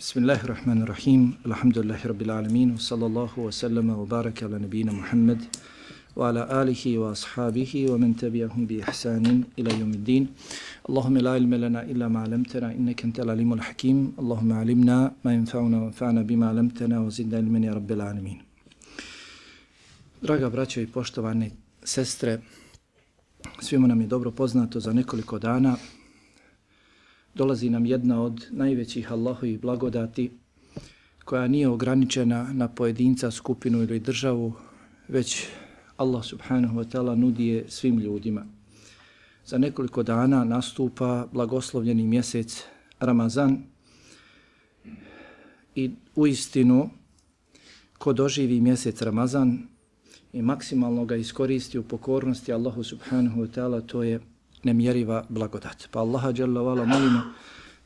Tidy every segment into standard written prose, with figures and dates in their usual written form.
Bismillahirrahmanirrahim. Alhamdulillahi rabbil alamin. Sallallahu wa sallama wa baraka ala nabina Muhammad wa ala alihi wa ashabihi wa man tabi'ahum bi ihsanin ila yawmiddin. Allahumma la ilma lana illa ma 'allamtana innaka antal alimul hakim. Allahumma 'allimna ma yanfa'una wanfa'na bima 'allamtana wa zidna ilman ya rabbil alamin. Draga braćo i poštovane sestre, svima nam je dobro poznato za nekoliko dana dolazi nam jedna od najvećih Allahovih blagodati koja nije ograničena na pojedinca, skupinu ili državu, već Allah subhanahu wa ta'ala nudi je svim ljudima. Za nekoliko dana nastupa blagoslovljeni mjesec Ramazan i uistinu ko doživi mjesec Ramazan i maksimalno ga iskoristi u pokornosti Allahu subhanahu wa ta'ala, to je nemjeriva blagodat. Pa Allaha dželle ve ala molimo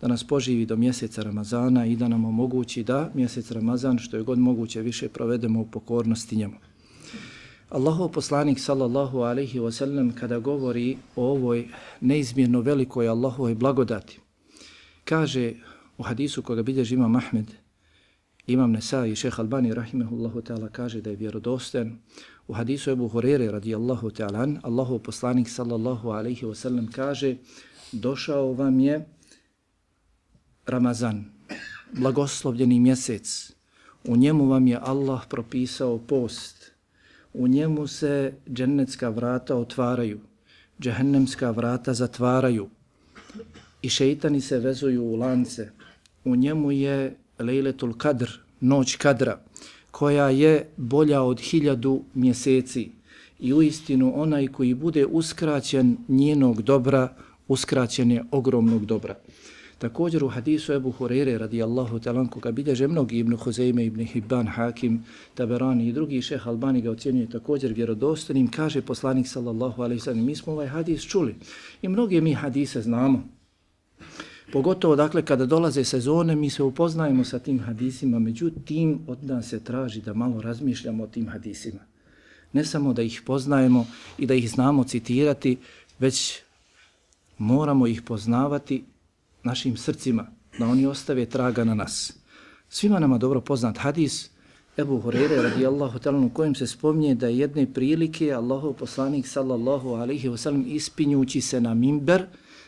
da nas poživi do mjeseca Ramazana i da nam omogući da mjesec Ramazan što je god moguće više provedemo u pokornosti njemu. Allahov poslanik sallallahu alejhi ve sellem kada govori o ovoj neizmjerno velikoj Allahovoj blagodati, kaže u hadisu koga bilježi Imam Ahmed, Imam Nesai i Šejh Albani rahimehullahu ta'ala kaže da je vjerodostojan. U hadisu Ebu Hurere radijallahu ta'ala an, Allahov poslanik sallallahu alejhi ve sellem kaže: došao vam je Ramazan, blagoslovljeni mjesec. U njemu vam je Allah propisao post. U njemu se džennetska vrata otvaraju, džehennemska vrata zatvaraju i šejtani se vezuju u lance. U njemu je Lejletul Kadr, noć kadra, koja je bolja od 1000 mjeseci i uistinu onaj koji bude uskraćen njenog dobra, uskraćen je ogromnog dobra. Također u hadisu Ebu Hurere radijallahu ta'ala koga bilježe mnogi Ibn Huzeyme, Ibn Hibban, Hakim, Taberani i drugi, Šejh Albani ga ocjenjuje također vjerodostojnim, kaže poslanik sallallahu alejhi ve sellem: mi smo ovaj hadis čuli i mnoge mi hadise znamo. Pogotovo dakle kada dolaze sezone mi se upoznajemo sa tim hadisima, međutim od nas se traži da malo razmišljamo o tim hadisima. Ne samo da ih poznajemo i da ih znamo citirati, već moramo ih poznavati našim srcima, da oni ostave traga na nas. Svima nama dobro poznat hadis Ebu Hurere radijallahu ta'ala u kojem se spominje da je jedne prilike Allahov poslanik sallallahu alejhi ve sellem ispinjući se na mimber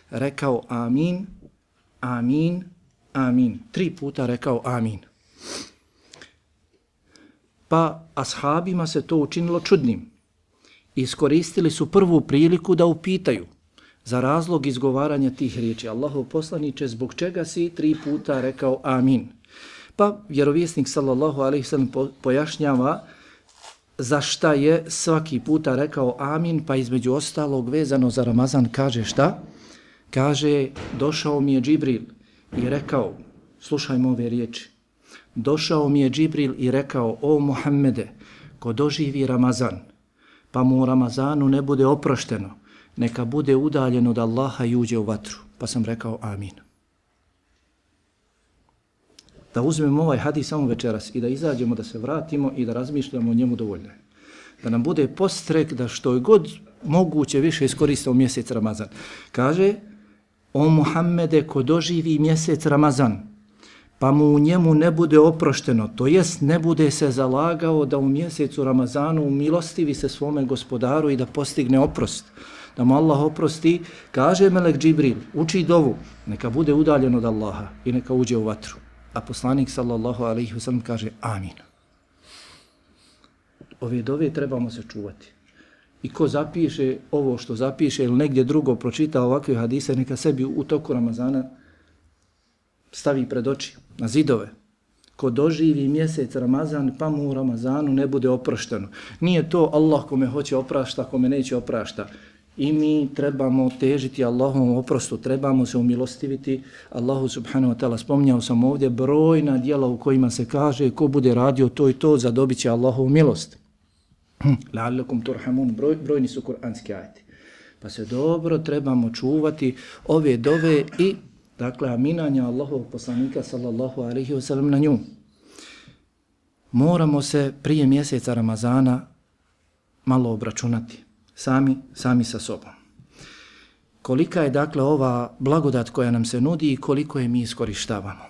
rekao amin, amin, amin. 3 puta rekao amin. Pa ashabima se to učinilo čudnim. Iskoristili su prvu priliku da upitaju za razlog izgovaranja tih riječi: Allahov poslaniče, zbog čega si 3 puta rekao amin? Pa vjerovjesnik sallallahu alejhi ve sellem pojašnjava za šta je svaki puta rekao amin, pa između ostalog vezano za Ramazan kaže šta? Kaže: došao mi je Džibril i rekao, slušajmo ove riječi, došao mi je Džibril i rekao: o Muhammede, ko doživi Ramazan, pa mu u Ramazanu ne bude oprošteno, neka bude udaljen od Allaha i uđe u vatru. Pa sam rekao amin. Da uzmemo ovaj hadis samo večeras i da izađemo, da se vratimo i da razmišljamo o njemu dovoljno. Da nam bude postrek da što je god moguće više iskoristimo mjesec Ramazan. Kaže: o Muhammede, ko doživi mjesec Ramazan, pa mu u njemu ne bude oprošteno, to jest ne bude se zalagao da u mjesecu Ramazanu umilostivi se svome gospodaru i da postigne oprost, da mu Allah oprosti, kaže melek Džibril, uči dovu, neka bude udaljen od Allaha i neka uđe u vatru. A poslanik sallallahu alejhi ve sellem kaže amin. Ove dove trebamo se čuvati. I ko zapiše ovo što zapiše ili negdje drugo pročita ovakve hadise, neka sebi u toku Ramazana stavi pred oči, na zidove. Ko doživi mjesec Ramazan, pa mu u Ramazanu ne bude oprošteno. Nije to Allah kome hoće oprašta, kome neće oprašta. I mi trebamo težiti Allahovom oprostu, trebamo se umilostiviti Allahu subhanahu wa ta'ala. Spominjao sam ovdje brojna djela u kojima se kaže ko bude radio to i to, zadobit će Allahovu milost. La'allakum turhamun, brojni su kuranski ajeti. Pa se dobro trebamo čuvati ove dove i dakle aminanja Allahovog poslanika sallallahu alejhi ve sellem na nju. Moramo se prije mjeseca Ramazana malo obračunati, sami sa sobom. Kolika je dakle ova blagodat koja nam se nudi i koliko je mi iskorištavamo.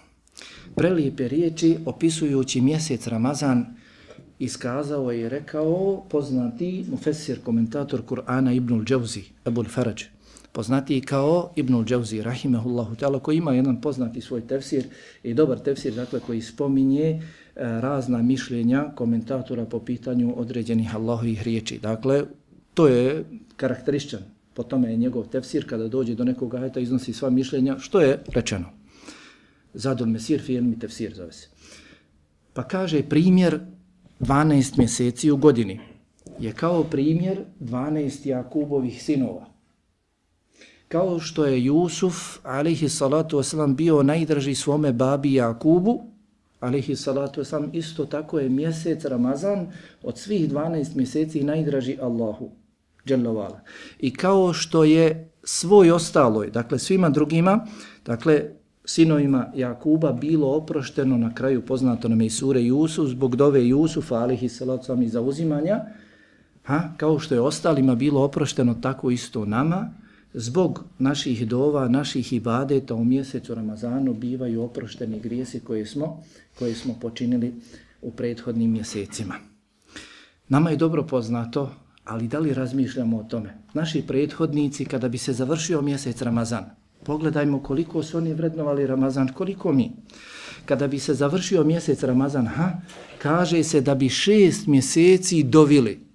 prelijepe riječi opisujući mjesec Ramazan iskazao je i rekao poznati mufesir, komentator Kur'ana Ibnul Džauzi, Ebul Faraj, poznati kao Ibnul Džauzi, rahimehullahu ta'ala, koji ima jedan poznati svoj tefsir i dobar tefsir, dakle, koji spominje razna mišljenja komentatora po pitanju određenih Allahovih riječi. Dakle, to je karakterističan. Po tome je njegov tefsir, kada dođe do nekog ajeta, iznosi sva mišljenja, što je rečeno. Zadul Mesir fi ilmi tefsir zove se. Pa kaže primjer 12 mjeseci u godini je kao primjer 12 Jakubovih sinova. Kao što je Jusuf, alejhi salatu wasalam, bio najdraži svome babi Jakubu, alejhi salatu wasalam, isto tako je mjesec Ramazan od svih 12 mjeseci najdraži Allahu, dželle vala. I kao što je svoj ostaloj, dakle svima drugima, dakle sinovima Jakuba bilo oprošteno na kraju, poznato nam je i sure Jusuf, zbog dove Jusufa, alejhi salatu wasalam, i zauzimanja, kao što je ostalima bilo oprošteno, tako isto nama, zbog naših dova, naših ibadeta u mjesecu Ramazanu bivaju oprošteni grijesi koje smo počinili u prethodnim mjesecima. Nama je dobro poznato, ali da li razmišljamo o tome? Naši prethodnici, kada bi se završio mjesec Ramazan, pogledajmo koliko su oni vrednovali Ramazan, koliko mi. Kada bi se završio mjesec Ramazan, kaže se da bi 6 mjeseci dovili.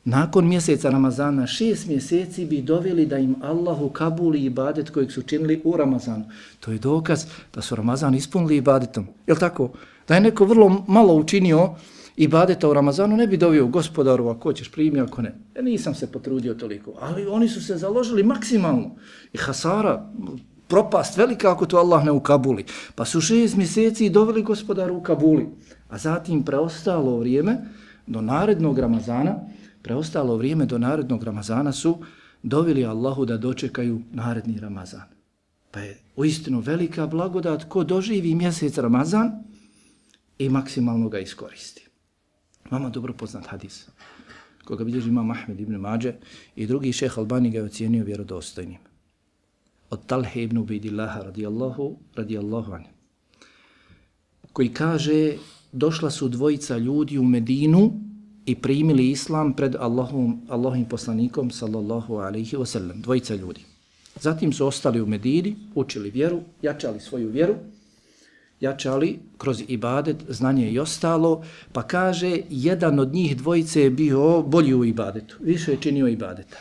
Nakon mjeseca Ramazana 6 mjeseci bi doveli da im Allah ukabuli ibadet kojeg su činili u Ramazanu. To je dokaz da su Ramazan ispunili ibadetom. Je li tako? Da je neko vrlo malo učinio ibadeta u Ramazanu, ne bi dovio gospodaru, ako ćeš primi, ako ne. Nisam se potrudio toliko. Ali oni su se založili maksimalno. I hasara, propast velika ako to Allah ne ukabuli. Pa su 6 mjeseci doveli gospodaru ukabuli. A zatim preostalo vrijeme do narednog Ramazana su doveli Allahu da dočekaju naredni Ramazan. Pa je uistinu velika blagodat ko doživi mjesec Ramazan i maksimalno ga iskoristi. Vama dobro poznat hadis, koga bilježi imam Ahmed ibn Mađe i drugi šejh Albani ga je ocijenio vjerodostojnim. Od Talhe ibn Ubejdillaha radijallahu anhu, koji kaže, došla su dvojica ljudi u Medinu i primili islam pred Allahovim poslanikom sallallahu alejhi ve sellem, dvojica ljudi. Zatim su ostali u Medini, učili vjeru, jačali svoju vjeru, jačali kroz ibadet, znanje i ostalo, pa kaže, jedan od njih dvojice je bio bolji u ibadetu, više je činio ibadeta.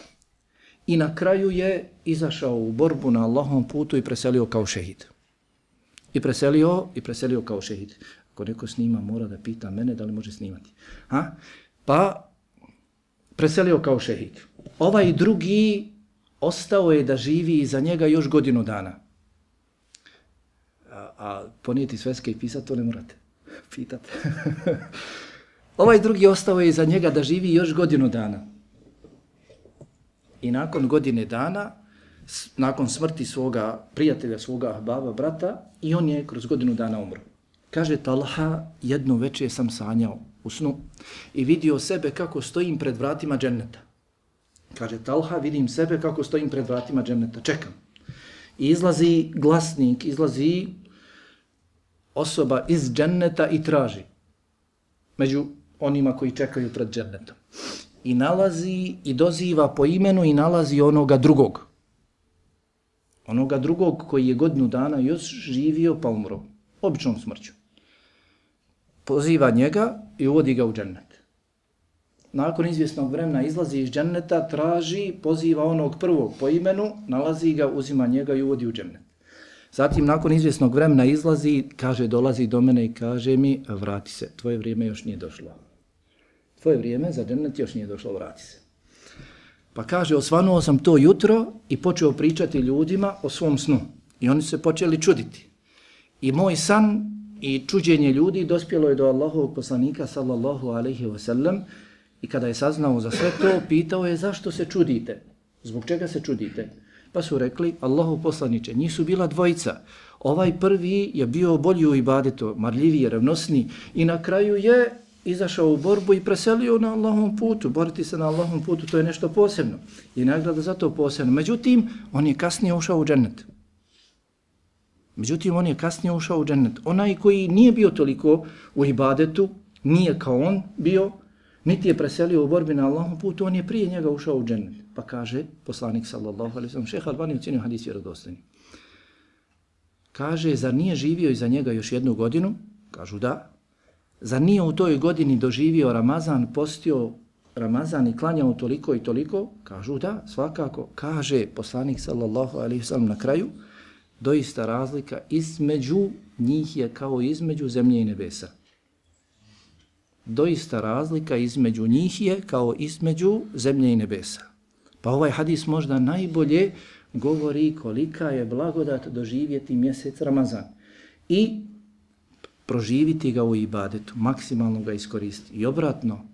I na kraju je izašao u borbu na Allahovom putu i preselio kao šehid. I preselio kao šehid. Ako neko snima, mora da pita mene da li može snimati. Pa preselio kao šehid. Ovaj drugi ostao je da živi iza njega još godinu dana. A ponijeti sveske i pisati, to ne morate pitati. Ovaj drugi ostao je iza njega da živi još godinu dana. I nakon godine dana, nakon smrti svoga prijatelja, svoga ahbaba, brata, i on je kroz godinu dana umro. Kaže Talha, jednu večer sam sanjao u snu i vidio sebe kako stojim pred vratima dženneta. Kaže Talha, vidim sebe kako stojim pred vratima dženneta, čekam. I izlazi glasnik, izlazi osoba iz dženneta i traži među onima koji čekaju pred džennetom. I nalazi i doziva po imenu i nalazi onoga drugog. Onoga drugog koji je godinu dana još živio pa umro. Običnom smrću. Poziva njega i uvodi ga u džennet. Nakon izvjesnog vremena izlazi iz dženneta, traži, poziva onog prvog po imenu, nalazi ga, uzima njega i uvodi u džennet. Zatim nakon izvjesnog vremena izlazi, kaže, dolazi do mene i kaže mi, vrati se, tvoje vrijeme još nije došlo. Tvoje vrijeme za džennet još nije došlo, vrati se. Pa kaže, osvanuo sam to jutro i počeo pričati ljudima o svom snu. I oni se počeli čuditi. I moj san i čuđenje ljudi dospjelo je do Allahovog poslanika sallallahu alejhi ve sellem i kada je saznao za sve to, pitao je zašto se čudite, zbog čega se čudite. Pa su rekli, Allahov poslaniče, njih su bila dvojica. Ovaj prvi je bio bolji u ibadetu, marljiviji, revnosniji i na kraju je izašao u borbu i preselio na Allahovom putu. Boriti se na Allahovom putu, to je nešto posebno i nagrada za to posebno. Međutim, on je kasnije ušao u džennet. Međutim, on je kasnije ušao u džennet. Onaj koji nije bio toliko u ibadetu, nije kao on bio, niti je preselio u borbi na Allahom putu, on je prije njega ušao u džennet. Pa kaže poslanik sallallahu alejhi ve sellem, Šejh Albani ocjenio hadis vjerodostojnim. Kaže, zar nije živio iza njega još 1 godinu? Kažu da. Zar nije u toj godini doživio Ramazan, postio Ramazan i klanjao toliko i toliko? Kažu da, svakako. Kaže poslanik sallallahu alejhi ve sellem na kraju, doista razlika između njih je kao između zemlje i nebesa. Doista razlika između njih je kao između zemlje i nebesa. Pa ovaj hadis možda najbolje govori kolika je blagodat doživjeti mjesec Ramazan i proživiti ga u ibadetu, maksimalno ga iskoristiti. I obratno,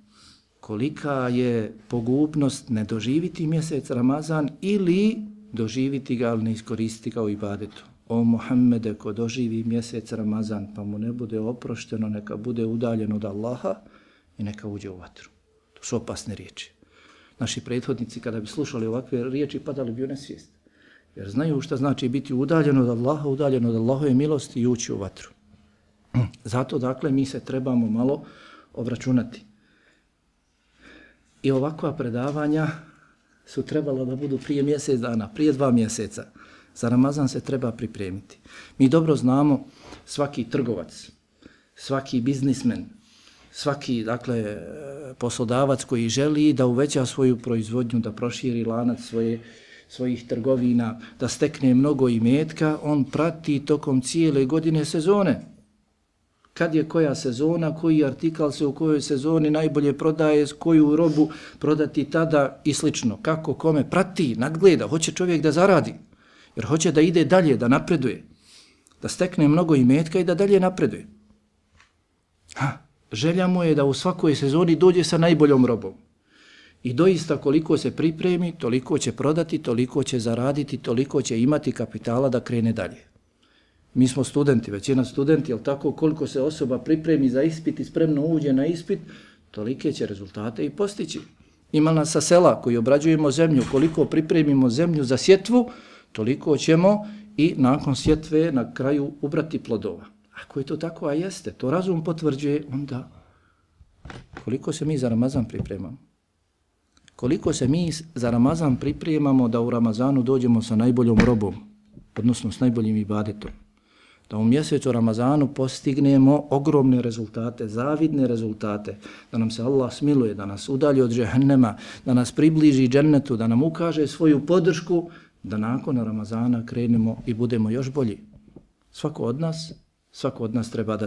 kolika je pogubnost ne doživiti mjesec Ramazan ili doživiti ga, ali ne iskoristiti ga u ibadetu. O Muhammede, ko doživi mjesec Ramazan, pa mu ne bude oprošteno, neka bude udaljen od Allaha i neka uđe u vatru. To su opasne riječi. Naši prethodnici, kada bi slušali ovakve riječi, padali bi u nesvijest. Jer znaju šta znači biti udaljen od Allaha, udaljen od Allahove milosti i ući u vatru. Zato, dakle, mi se trebamo malo obračunati. I ovakva predavanja su trebala da budu prije mjesec dana, prije 2 mjeseca. Za Ramazan se treba pripremiti. Mi dobro znamo, svaki trgovac, svaki biznismen, svaki, dakle, poslodavac koji želi da uveća svoju proizvodnju, da proširi lanac svojih trgovina, da stekne mnogo imetka, on prati tokom cijele godine sezone. Kad je koja sezona, koji artikal se u kojoj sezoni najbolje prodaje, koju robu prodati tada i slično. Kako, kome, prati, nadgleda, hoće čovjek da zaradi. Jer hoće da ide dalje, da napreduje, da stekne mnogo imetka i da dalje napreduje. Želja mu je da u svakoj sezoni dođe sa najboljom robom. I doista koliko se pripremi, toliko će prodati, toliko će zaraditi, toliko će imati kapitala da krene dalje. Mi smo studenti, većina studenti, jel tako, koliko se osoba pripremi za ispit i spremno uđe na ispit, tolike će rezultate i postići. Ima nas sa sela koji obrađujemo zemlju, koliko pripremimo zemlju za sjetvu, toliko ćemo i nakon sjetve na kraju ubrati plodova. Ako je to tako, a jeste, to razum potvrđuje, onda koliko se mi za Ramazan pripremamo? Koliko se mi za Ramazan pripremamo da u Ramazanu dođemo sa najboljom robom, odnosno s najboljim ibadetom? Da u mjesecu Ramazanu postignemo ogromne rezultate, zavidne rezultate, da nam se Allah smiluje, da nas udalji od džehennema, da nas približi džennetu, da nam ukaže svoju podršku, da nakon Ramazana krenemo i budemo još bolji. Svako od nas treba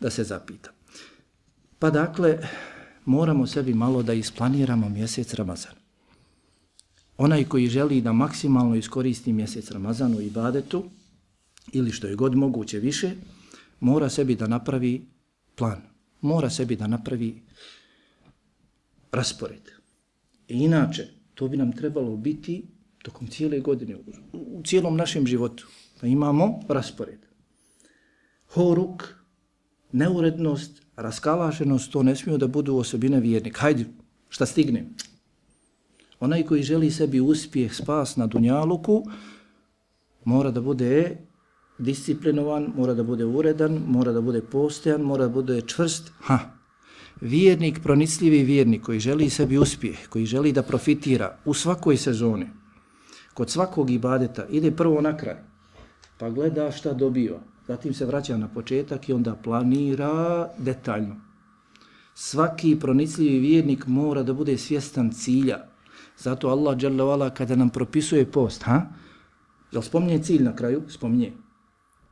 da se zapita. Pa dakle, moramo sebi malo da isplaniramo mjesec Ramazan. Onaj koji želi da maksimalno iskoristi mjesec Ramazan u ibadetu, ili što je god moguće više, mora sebi da napravi plan. Mora sebi da napravi raspored. I inače, to bi nam trebalo biti tokom cijele godine, u cijelom našem životu. Da imamo raspored. Horuk, neurednost, raskalašenost, to ne smiju da budu osobine vjernika. Hajde, šta stignem? Onaj koji želi sebi uspjeh, spas na dunjaluku, mora da bude disciplinovan, mora da bude uredan, mora da bude postojan, mora da bude čvrst. Vjernik, pronicljivi vjernik koji želi sebi uspjeh, koji želi da profitira u svakoj sezoni, kod svakog ibadeta, ide prvo na kraj, pa gleda šta dobiva, zatim se vraća na početak i onda planira detaljno. Svaki pronicljivi vjernik mora da bude svjestan cilja. Zato Allah dželle ve ala kada nam propisuje post, jel spominje cilj na kraju? Spominje.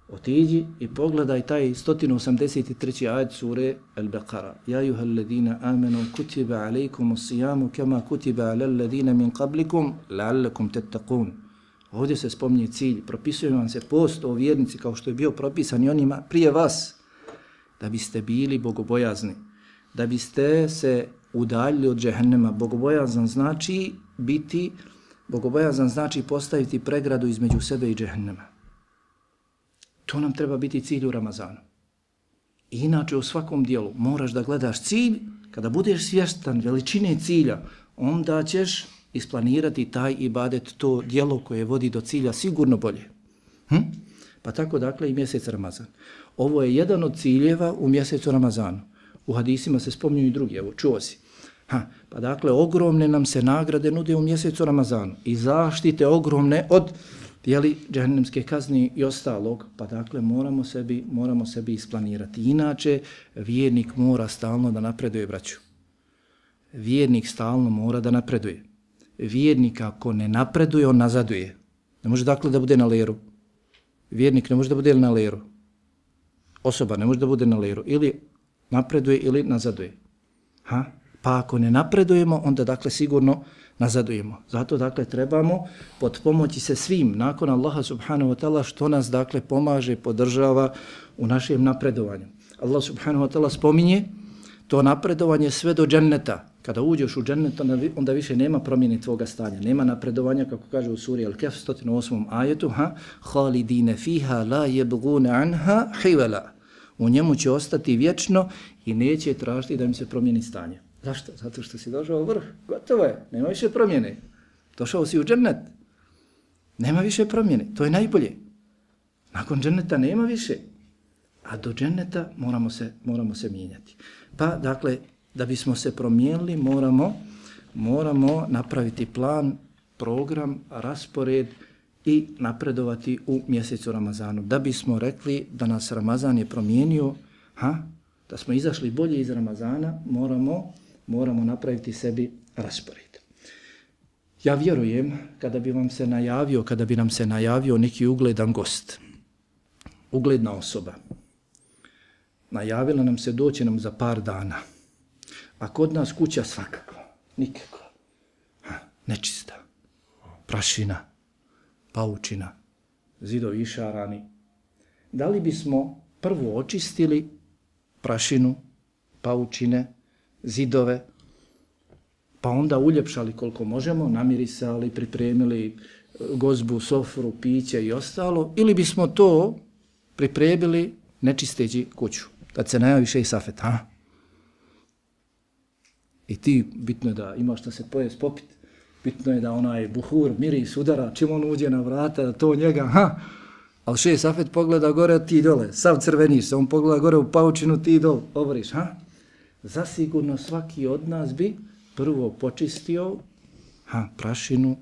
Otiđi i pogledaj taj 183. ajet sure Al-Baqara. Ja ayyuhalladhina amanu kutiba alaykumus siyamu kama kutiba alal ladina min qablikum la'allakum tattaqun. Ovdje se spominje cilj, propisuje vam se post o vjernici kao što je bio propisan i onima prije vas, da biste bili bogobojazni, da biste se udaljili od džehennema. Bogobojazan znači postaviti pregradu između sebe i džehennema. To nam treba biti cilj u Ramazanu. I inače u svakom dijelu moraš da gledaš cilj, kada budeš svjestan veličine cilja, onda ćeš isplanirati taj ibadet, to dijelo koje vodi do cilja sigurno bolje. Pa tako dakle i mjesec Ramazan. Ovo je jedan od ciljeva u mjesecu Ramazanu. U hadisima se spominju i drugi, evo čuo si. Pa dakle ogromne nam se nagrade nude u mjesecu Ramazanu i zaštite ogromne od džehennemske kazne i ostalog, pa dakle moramo sebi isplanirati. Inače, vjernik mora stalno da napreduje, braću. Vjernik stalno mora da napreduje. Vjernik ako ne napreduje, on nazaduje. Ne može dakle da bude na leru. Vjernik ne može da bude na leru. Osoba ne može da bude na leru. Ili napreduje ili nazaduje. Pa ako ne napredujemo, onda dakle sigurno nazadujemo. Zato dakle trebamo potpomoći se svim nakon Allaha subhanahu wa ta'ala što nas dakle pomaže, podržava u našem napredovanju. Allah subhanahu wa ta'ala spominje to napredovanje sve do dženneta. Kada uđeš u džennet, onda više nema promjene tvoga stanja. Nema napredovanja, kako kaže u suri Al-Kahf 108. ajetu, Khalidine fiha la yabghuna anha hiwala. U njemu će ostati vječno i neće tražiti da im se promijeni stanje. Zašto? Zato što si došao u vrh. Gotovo je. Nema više promjene. Došao si u džennet. Nema više promjene. To je najbolje. Nakon dženneta nema više. A do dženneta moramo se mijenjati. Pa, dakle, da bismo se promijenili, moramo napraviti plan, program, raspored i napredovati u mjesecu Ramazanu. Da bismo rekli da nas Ramazan je promijenio, da smo izašli bolje iz Ramazana, moramo napraviti sebi raspored. Ja vjerujem kada bi nam se najavio neki ugledan gost, ugledna osoba, najavila nam se doći nam za par dana, a kod nas kuća svakako, nikako, nečista, prašina, paučina, zidovi išarani. Da li bismo prvo očistili prašinu, paučine, zidove, pa onda uljepšali koliko možemo, namirisali, pripremili gozbu, sofru, piće i ostalo, ili bismo to pripremili nečisteći kuću, da se najavi šejh Safet, I ti, bitno je da imaš šta se pojest popit, bitno je da onaj buhur miris udara, čim on uđe na vrata, da to njega, ali šejh Safet pogleda gore, ti dole, sav crveniš se, on pogleda gore u paučinu, ti dole, oboriš, Zasigurno svaki od nas bi prvo počistio prašinu,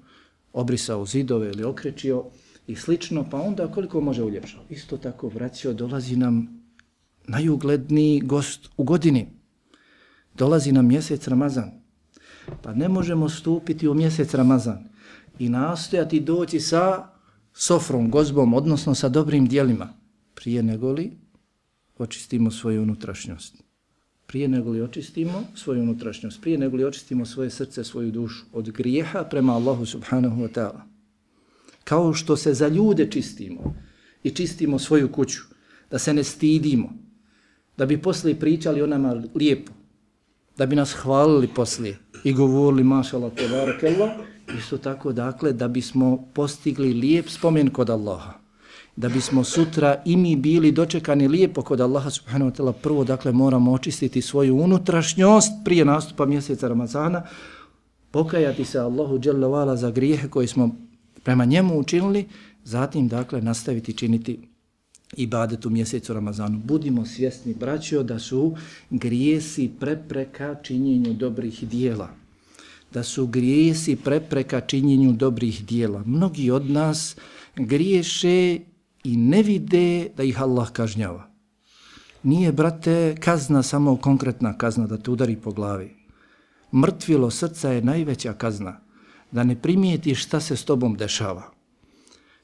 obrisao zidove ili okrečio i slično, pa onda koliko može uljepšao. Isto tako, braćo, dolazi nam najugledniji gost u godini. Dolazi nam mjesec Ramazan. Pa ne možemo stupiti u mjesec Ramazan i nastojati doći sa sofrom, gozbom, odnosno sa dobrim dijelima, prije nego li očistimo svoju unutrašnjost. Prije nego li očistimo svoju unutrašnjost, prije nego li očistimo svoje srce, svoju dušu od grijeha prema Allahu subhanahu wa ta'ala. Kao što se za ljude čistimo i čistimo svoju kuću, da se ne stidimo, da bi poslije pričali o nama lijepo, da bi nas hvalili poslije i govorili mašallah, tebarakallah, isto tako dakle da bismo postigli lijep spomen kod Allaha. Da bismo sutra i mi bili dočekani lijepo kod Allaha subhanahu wa ta'ala, prvo dakle moramo očistiti svoju unutrašnjost prije nastupa mjeseca Ramazana, pokajati se Allahu dželle ve ala za grijehe koje smo prema njemu učinili, zatim dakle nastaviti činiti ibadet u mjesecu Ramazanu. Budimo svjesni, braćo, da su grijesi prepreka činjenju dobrih dijela. Da su grijesi prepreka činjenju dobrih dijela. Mnogi od nas griješe i ne vide da ih Allah kažnjava. Nije, brate, kazna samo konkretna kazna da te udari po glavi. Mrtvilo srca je najveća kazna, da ne primijetiš šta se s tobom dešava.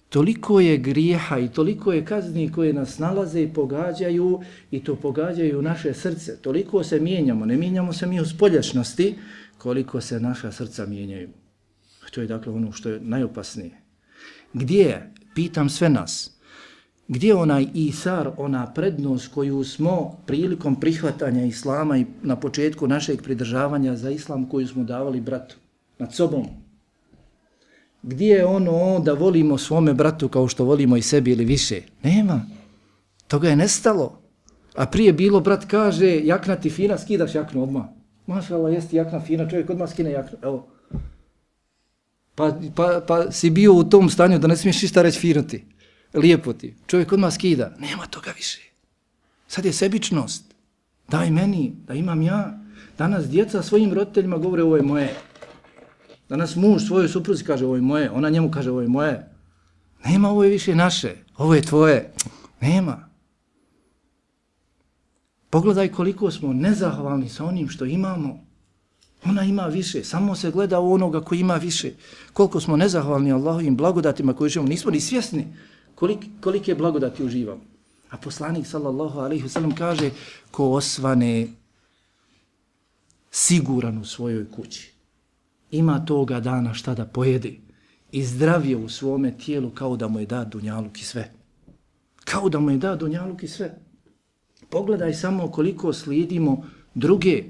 Toliko je grijeha i toliko je kazni koje nas nalaze i pogađaju, i to pogađaju naše srce. Toliko se mijenjamo, ne mijenjamo se mi u spoljašnosti, koliko se naša srca mijenjaju. To je dakle ono što je najopasnije. Gdje je, pitam sve nas, gdje je onaj isar, ona prednost koju smo prilikom prihvatanja islama i na početku našeg pridržavanja za islam koju smo davali bratu nad sobom? Gdje je ono da volimo svome bratu kao što volimo i sebi ili više? Nema. Toga je nestalo. A prije bilo, brat kaže, jakna ti fina, skidaš jaknu odmah. Mašallah, jesti jakna fina, čovjek odmah skine jaknu. Evo. Pa si bio u tom stanju da ne smiješ ništa reći finuti. lijepo ti. Čovjek odmah skida. Nema toga više. Sad je sebičnost. Daj meni, da imam ja. Danas djeca svojim roditeljima govore ovo je moje. Danas muž svojoj supruzi kaže ovo je moje. Ona njemu kaže ovo je moje. Nema, ovo je više naše. Ovo je tvoje. Nema. Pogledaj koliko smo nezahvalni sa onim što imamo. Ona ima više. Samo se gleda u onoga koji ima više. Koliko smo nezahvalni Allahovim blagodatima koji uživamo. Nismo ni svjesni kolike blagodati uživamo. A poslanik sallallahu alejhi ve sellem kaže ko osvane siguran u svojoj kući. Ima toga dana šta da pojede i zdravije u svome tijelu kao da mu je dat dunjaluk i sve. Kao da mu je dat dunjaluk i sve. Pogledaj samo koliko slijedimo druge.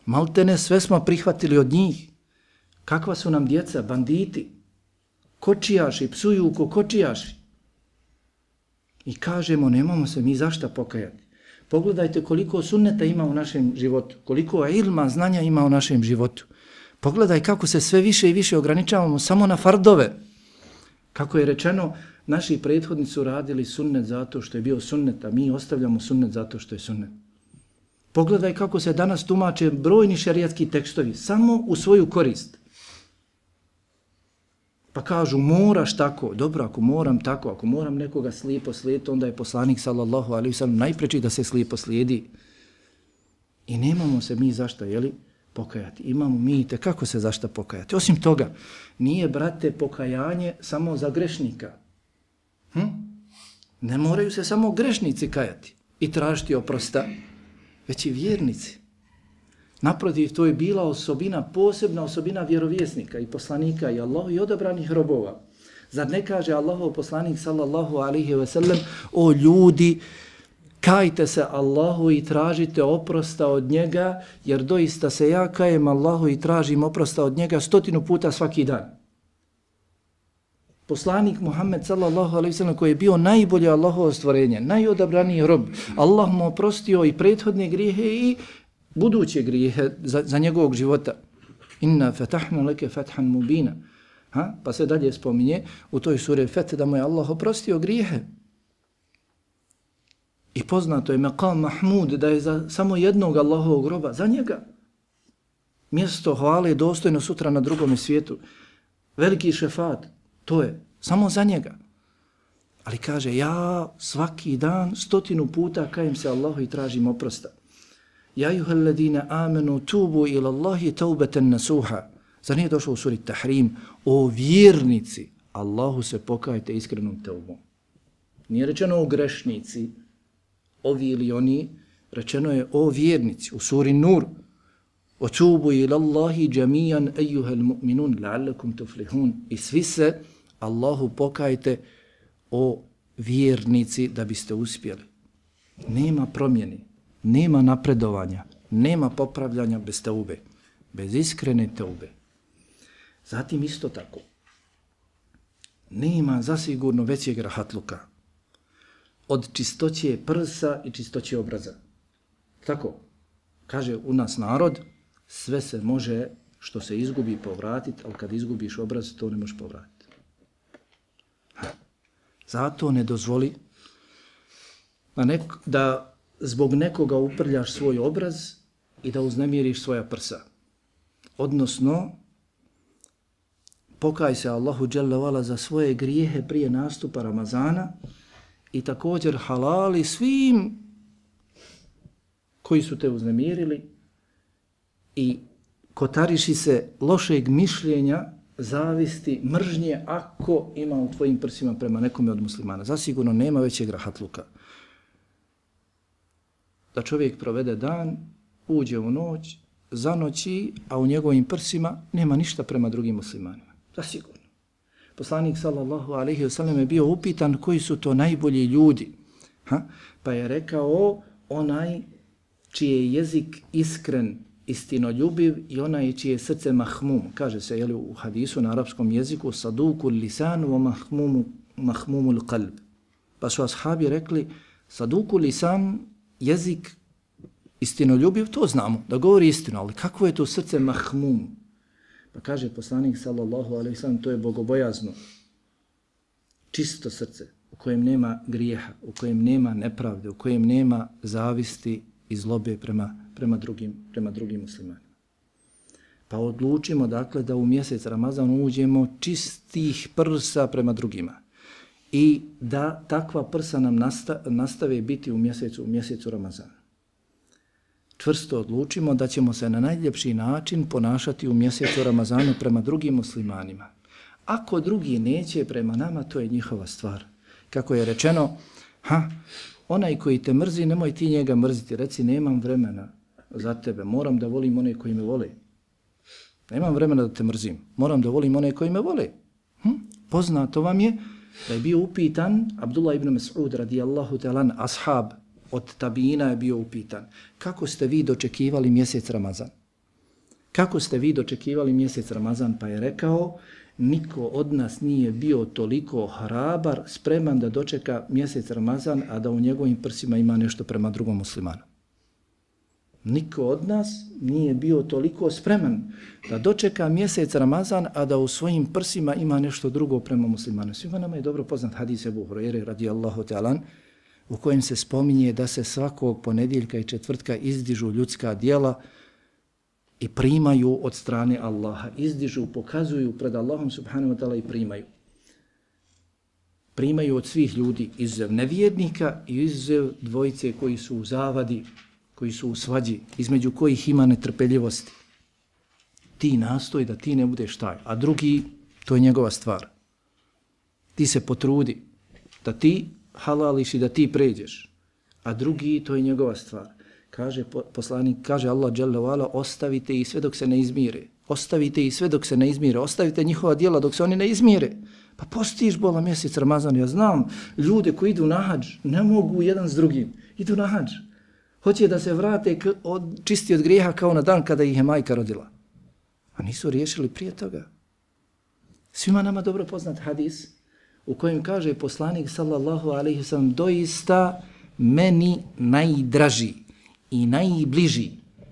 Maltene sve smo prihvatili od njih. Kakva su nam djeca, banditi, kočijaši, psuju ko kočijaši. I kažemo, nemamo se mi zašta pokajati. Pogledajte koliko sunneta ima u našem životu, koliko ilma, znanja ima u našem životu. Pogledaj kako se sve više i više ograničavamo samo na fardove. Kako je rečeno, naši prethodnici su radili sunnet zato što je bio sunnet, a mi ostavljamo sunnet zato što je sunnet. Pogledaj kako se danas tumače brojni šerijatski tekstovi, samo u svoju korist. Pa kažu, moraš tako. Dobro, ako moram tako, ako moram nekoga slijepo slijediti, onda je poslanik sallallahu alejhi ve sellem najpreči da se slijepo slijedi. I nemamo se mi zašta, jeli, pokajati. Imamo mi kako se zašta pokajati. Osim toga, nije, brate, pokajanje samo za grešnika. Ne moraju se samo grešnici kajati i tražiti oprosta, već i vjernici. Naprotiv, to je bila osobina, posebna osobina vjerovjesnika i poslanika i Allahu i odabranih robova. Zar ne kaže Allahov poslanik sallallahu alejhi ve sellem, o ljudi, kajte se Allahu i tražite oprosta od njega, jer doista se ja kajem Allahu i tražim oprosta od njega 100 puta svaki dan. Poslanik Muhammed sallallahu alejhi ve sellem koji je bio najbolje Allahovo stvorenje, najodabraniji rob, Allah mu oprostio i prethodne grijehe i buduće grijehe za njegovog života. Inna fatahna leke fathan mubina. Pa se dalje spominje u toj suri Feth da mu je Allah oprostio grijehe. I poznato je Maqam Mahmud da je za samo jednog Allahovog roba, za njega. Mjesto hvale je dostojno sutra na drugom svijetu. Veliki šefat, to je samo za njega. Ali kaže, ja svaki dan 100 puta kajem se Allahu i tražim oprosta. Ja ayyuhalladhina amanu tubu ila Allahi taubatan nasuha. Zar nije došlo u suri Tahrim? O vjernici, Allahu se pokajte iskrenom teubom. Nije rečeno o grešnici, ovi ili oni, rečeno je o vjernici u suri Nur. O tubu ila Allahi jamijan ayyuhal mu'minun la'allakum tuflihun. I svi se Allahu pokajte o vjernici da biste uspjeli. Nema promjeni. Nema napredovanja, nema popravljanja bez teube, bez iskrene teube. Zatim isto tako, nema zasigurno većeg rahatluka od čistoće prsa i čistoće obraza. Tako, kaže u nas narod, sve se može što se izgubi povratiti, ali kad izgubiš obraz, to ne možeš povratiti. Zato ne dozvoli da zbog nekoga uprljaš svoj obraz i da uznemiriš svoja prsa. Odnosno, pokaj se Allahu dželle vala za svoje grijehe prije nastupa Ramazana i također halali svim koji su te uznemirili i kotariši se lošeg mišljenja, zavisti, mržnje ako ima u tvojim prsima prema nekome od muslimana. Zasigurno nema većeg rahatluka. Da čovjek provede dan, uđe u noć, zanoći, a u njegovim prsima nema ništa prema drugim muslimanima. Zasigurno. Poslanik sallallahu alejhi ve sellem je bio upitan koji su to najbolji ljudi. Pa je rekao onaj čiji je jezik iskren, istinoljubiv i onaj čije je srce mahmum. Kaže se jeli, u hadisu na arapskom jeziku saduku lisanu wa mahmumul qalb. Pa su ashabi rekli saduku lisan, jezik istinoljubiv, to znamo, da govori istinu, ali kako je to srce mahmum? Pa kaže poslanik sallallahu alejhi ve sellem, to je bogobojazno. čisto srce, u kojem nema grijeha, u kojem nema nepravde, u kojem nema zavisti i zlobe prema drugim muslimanima. Pa odlučimo dakle da u mjesec Ramazan uđemo čistih prsa prema drugima i da takva prsa nam nastave biti u mjesecu Ramazana. Čvrsto odlučimo da ćemo se na najljepši način ponašati u mjesecu Ramazanu prema drugim muslimanima. Ako drugi neće prema nama, to je njihova stvar. Kako je rečeno, onaj koji te mrzi, nemoj ti njega mrziti. Reci, nemam vremena za tebe, moram da volim one koji me vole. Nemam vremena da te mrzim, moram da volim one koji me vole. Poznato vam je da je bio upitan Abdullah ibn Mas'ud radijallahu ta'ala, ashab od tabina je bio upitan. Kako ste vi dočekivali mjesec Ramazan? Kako ste vi dočekivali mjesec Ramazan? Pa je rekao, niko od nas nije bio toliko hrabar, spreman da dočeka mjesec Ramazan, a da u njegovim prsima ima nešto prema drugom muslimanu. Niko od nas nije bio toliko spreman da dočeka mjesec Ramazan, a da u svojim prsima ima nešto drugo prema muslimanu. Svima nama je dobro poznat hadis Ebu Hurajre radijallahu ta'ala, u kojem se spominje da se svakog ponedjeljka i četvrtka izdižu ljudska djela i primaju od strane Allaha. Izdižu, pokazuju pred Allahom subhanahu wa ta'ala i primaju. Primaju od svih ljudi, izuzev nevjernika i izuzev dvojice koji su u zavadi, koji su u svađi, između kojih ima netrpeljivosti. Ti nastoj da ti ne budeš taj, a drugi, to je njegova stvar. Ti se potrudi da ti halališ i da ti pređeš, a drugi, to je njegova stvar. Kaže poslanik, kaže Allah dželle ve ala, ostavite ih sve dok se ne izmire. Ostavite ih sve dok se ne izmire. Ostavite njihova djela dok se oni ne izmire. Pa postiš bola mjesec Ramazan. Ja znam ljude koji idu na hadž, ne mogu jedan s drugim. Idu na hadž. Hoće da se vrate čisti od grijeha kao na dan kada ih je majka rodila. A nisu riješili prije toga. Svima nama dobro poznat hadis u kojem kaže poslanik sallallahu alejhi ve sellem, doista meni najdraži i najbliži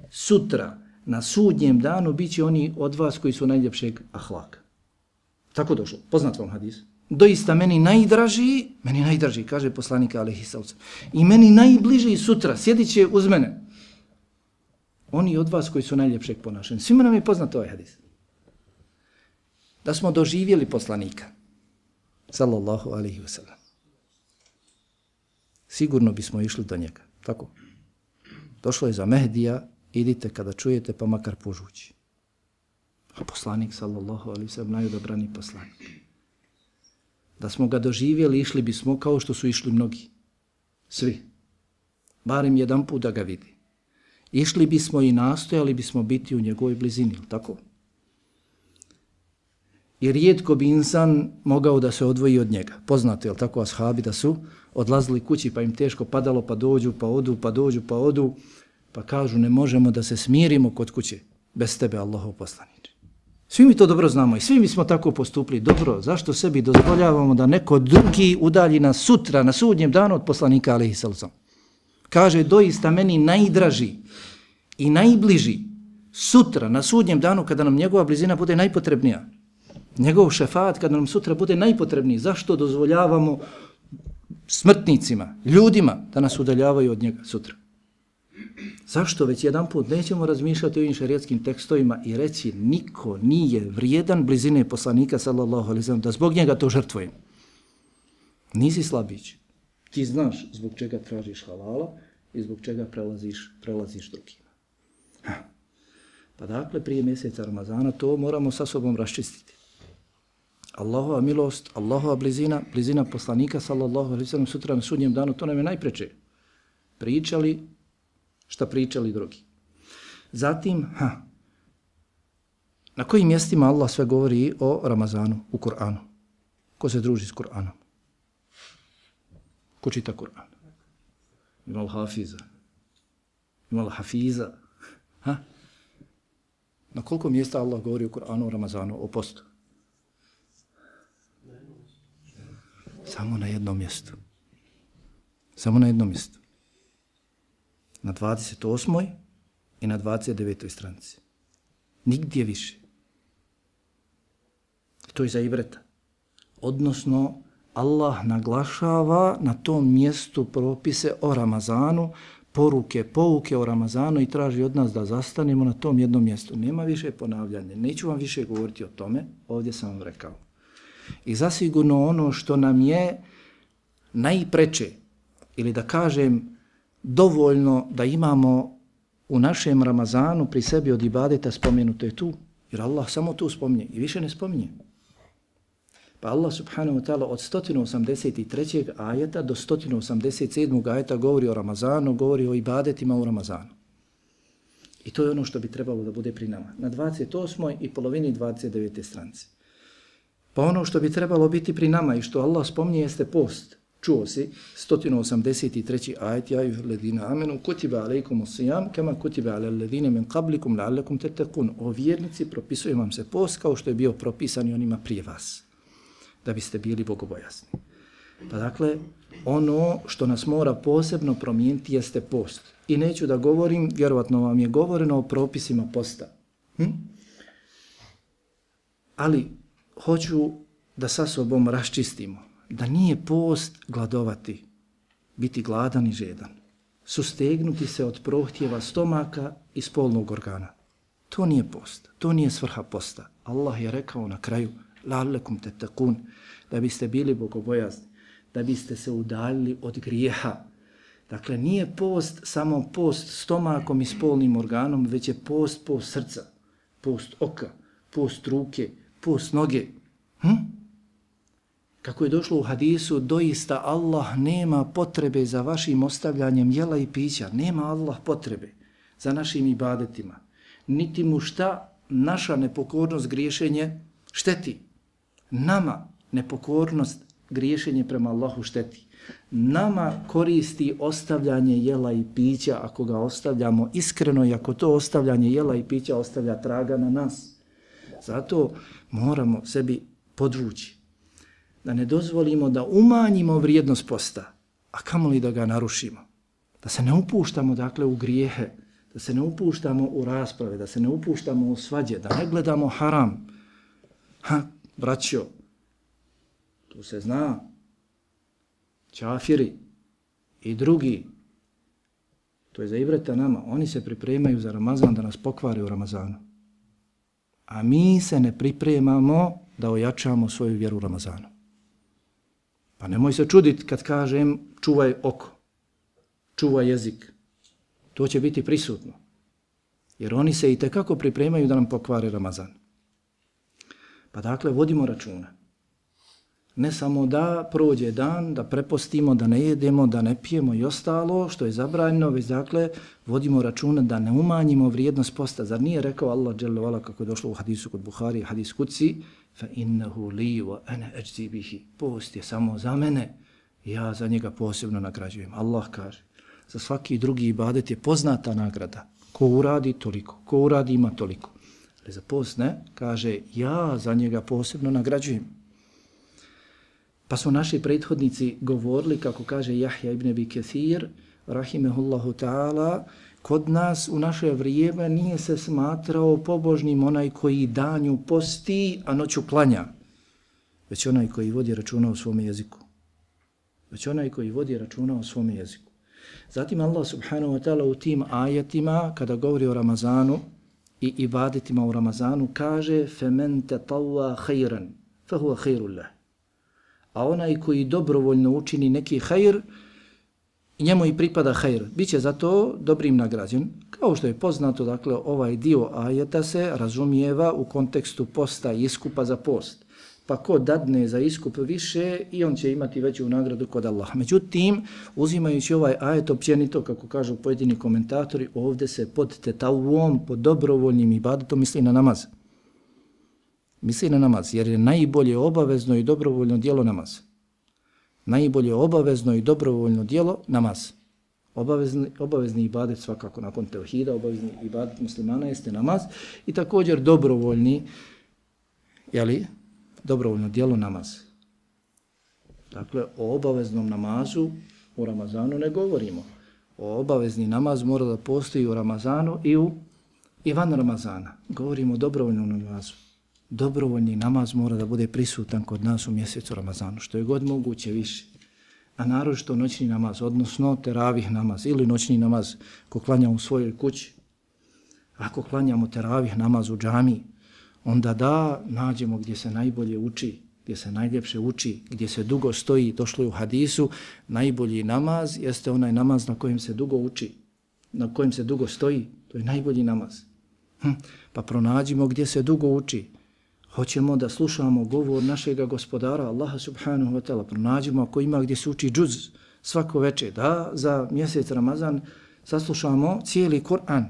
sutra na sudnjem danu bit će oni od vas koji su najljepšeg ahlaka. Tako došlo, poznat vam hadis. Doista meni najdraži, kaže poslanik alejhi selam. I meni najbliži sutra, sjedit će uz mene. Oni od vas koji su najljepšeg ponašanja. Svima nam je poznat ovaj hadis. Da smo doživjeli poslanika, sallallahu alejhi ve sellem, sigurno bismo išli do njega. Tako? Došlo je za Mehdija, idite kada čujete pa makar požući. A poslanik, sallallahu alejhi ve sellem, najodabrani poslanik. Da smo ga doživjeli, išli bismo kao što su išli mnogi. Svi. Barem jedan put da ga vidi. Išli bismo i nastojali bismo biti u njegovoj blizini, tako? I rijetko bi insan mogao da se odvoji od njega. Poznato je li tako ashabi da su odlazili kući pa im teško padalo, pa dođu, pa odu, pa dođu, pa odu, pa kažu ne možemo da se smirimo kod kuće bez tebe, Allahov poslaniče. Svi mi to dobro znamo i svi mi smo tako postupili. Dobro, zašto sebi dozvoljavamo da neko drugi udalji nas sutra, na sudnjem danu od poslanika alejhi selam? Kaže, doista meni najdraži i najbliži sutra, na sudnjem danu, kada nam njegova blizina bude najpotrebnija. Njegov šefat kada nam sutra bude najpotrebniji. Zašto dozvoljavamo smrtnicima, ljudima da nas udaljavaju od njega sutra? Zašto već jedan put nećemo razmišljati o ovim šerijetskim tekstovima i reći niko nije vrijedan blizine poslanika sallallahu alejhi ve sellem da zbog njega to žrtvujem. Nisi slabić. Ti znaš zbog čega tražiš halala i zbog čega prelaziš drugima. Pa dakle, prije mjeseca Ramazana to moramo sa sobom raščistiti. Allahova milost, Allahova blizina poslanika sallallahu alejhi ve sellem sutra na sudnjem danu, to nam je najpreče. Šta pričali drugi. Zatim, na kojim mjestima Allah sve govori o Ramazanu u Kur'anu? Ko se druži s Kur'anom? Ko čita Kur'an? Ima li hafiza? Ima li hafiza? Na koliko mjesta Allah govori o Kur'anu, o Ramazanu, o postu? Samo na jednom mjestu. Samo na jednom mjestu. Na 28. i na 29. stranici. Nigdje više. To je za ibreta. Odnosno, Allah naglašava na tom mjestu propise o Ramazanu, poruke, pouke o Ramazanu i traži od nas da zastanemo na tom jednom mjestu. Nema više ponavljanja, neću vam više govoriti o tome, ovdje sam vam rekao. I zasigurno ono što nam je najpreče, ili da kažem dovoljno da imamo u našem Ramazanu pri sebi od ibadeta spomenuto je tu, jer Allah samo tu spominje i više ne spominje. Pa Allah subhanahu wa ta'ala od 183. ajeta do 187. ajeta govori o Ramazanu, govori o ibadetima u Ramazanu. I to je ono što bi trebalo da bude pri nama. Na 28. i polovini 29. stranice. Pa ono što bi trebalo biti pri nama i što Allah spominje jeste post. Čuo si 183. ajet, ja ayyuhalladhina amanu kutiba alaykumus siyam kama kutiba alal ladhina min qablikum la'allakum tattaqun. O vjernici, propisuje vam se post kao što je bio propisan i onima prije vas, da biste bili bogobojazni. Pa dakle, ono što nas mora posebno promijeniti jeste post. I neću da govorim, vjerovatno vam je govoreno o propisima posta. Ali hoću da sa sobom raščistimo da nije post gladovati, biti gladan i žedan, sustegnuti se od prohtjeva stomaka i spolnog organa. To nije post, to nije svrha posta. Allah je rekao na kraju, la'allakum tattaqun, da biste bili bogobojazni, da biste se udaljili od grijeha. Dakle, nije post samo post stomakom i spolnim organom, već je post srca, post oka, post ruke, post noge. Kako je došlo u hadisu, doista Allah nema potrebe za vašim ostavljanjem jela i pića. Nema Allah potrebe za našim ibadetima. Niti mu šta naša nepokornost, griješenje šteti. Nama nepokornost, griješenje prema Allahu šteti. Nama koristi ostavljanje jela i pića ako ga ostavljamo iskreno i ako to ostavljanje jela i pića ostavlja traga na nas. Zato moramo sebi podvući da ne dozvolimo da umanjimo vrijednost posta, a kamoli da ga narušimo. Da se ne upuštamo dakle u grijehe, da se ne upuštamo u rasprave, da se ne upuštamo u svađe, da ne gledamo haram. Braćo, tu se zna, čafiri i drugi, to je za ibreta nama, oni se pripremaju za Ramazan da nas pokvare u Ramazanu. A mi se ne pripremamo da ojačamo svoju vjeru u Ramazanu. Pa nemoj se čuditi kad kažem čuvaj oko, čuvaj jezik. To će biti prisutno. Jer oni se itekako pripremaju da nam pokvare Ramazan. Pa dakle, vodimo računa. Ne samo da prođe dan, da prepostimo, da ne jedemo, da ne pijemo i ostalo što je zabranjeno, već dakle, vodimo računa da ne umanjimo vrijednost posta. Zar nije rekao Allah dželle vala kako je došlo u hadisu kod Buhari, hadis Kudsi, fa innahu li wa ana ajzi bihi. Post je samo za mene, ja za njega posebno nagrađujem. Allah kaže, za svaki drugi ibadet je poznata nagrada. Ko uradi toliko, ko uradi ima toliko. Ali za post ne, kaže, ja za njega posebno nagrađujem. Pa su naši prethodnici govorili, kako kaže Jahja ibn Abi Kathir, rahimehullahu ta'ala, kod nas u naše vrijeme nije se smatrao pobožnim onaj koji danju posti, a noću klanja, već onaj koji vodi računa o svome jeziku. Već onaj koji vodi računa o svome jeziku. Zatim Allah subhanahu wa ta'ala u tim ajetima, kada govori o Ramazanu i ibadetima u Ramazanu, kaže فَمَنْ تَطَوَّا خَيْرًا فَهُوَ خَيْرُ اللَّهِ. A onaj koji dobrovoljno učini neki hajr, njemu i pripada hajr. Biće za to dobrim nagrađen. Kao što je poznato, dakle, ovaj dio ajeta se razumijeva u kontekstu posta i iskupa za post. Pa ko dadne za iskup više i on će imati veću nagradu kod Allaha. Međutim, uzimajući ovaj ajet općenito, kako kažu pojedini komentatori, ovdje se pod tetavom, pod dobrovoljnim ibadetom misli na namaz. Misli na namaz, jer je najbolje obavezno i dobrovoljno djelo namaz. Najbolje obavezno i dobrovoljno djelo namaz. Obavezni ibadet svakako nakon tevhida, obavezni ibadet muslimana jeste namaz i također dobrovoljni, dobrovoljno djelo namaz. Dakle, o obaveznom namazu u Ramazanu ne govorimo. O obavezni namaz mora da postoji u Ramazanu i van Ramazana. Govorimo o dobrovoljnom namazu. dobrovoljni namaz mora da bude prisutan kod nas u mjesecu Ramazanu, što je god moguće više. A naročito noćni namaz, odnosno teravih namaz ili noćni namaz ko klanja u svojoj kući. Ako klanjamo teravih namaz u džamiji, onda da nađemo gdje se najbolje uči, gdje se najljepše uči, gdje se dugo stoji, došlo je u hadisu, najbolji namaz jeste onaj namaz na kojem se dugo uči, na kojem se dugo stoji, to je najbolji namaz. Pa pronađimo gdje se dugo uči. Hoćemo da slušamo govor našega gospodara Allaha subhanahu wa ta'ala, pronađimo ako ima gdje se uči džuz svako večer, da za mjesec Ramazan saslušamo cijeli Kur'an.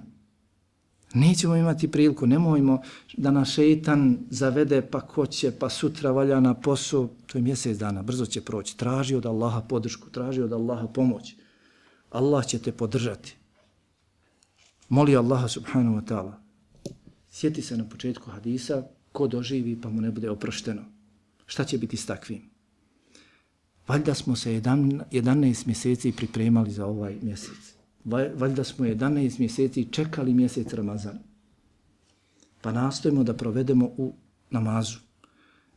Nećemo imati priliku, nemojmo da nas šeitan zavede pa ko će, pa sutra valja na posao, to je mjesec dana, brzo će proći. Traži od Allaha podršku, traži od Allaha pomoć. Allah će te podržati. Moli Allaha subhanahu wa ta'ala. Sjeti se na početku hadisa, ko doživi pa mu ne bude oprošteno. Šta će biti s takvim? Valjda smo se 11 mjeseci pripremali za ovaj mjesec. Valjda smo 11 mjeseci čekali mjesec Ramazan. Pa nastojimo da provedemo u namazu.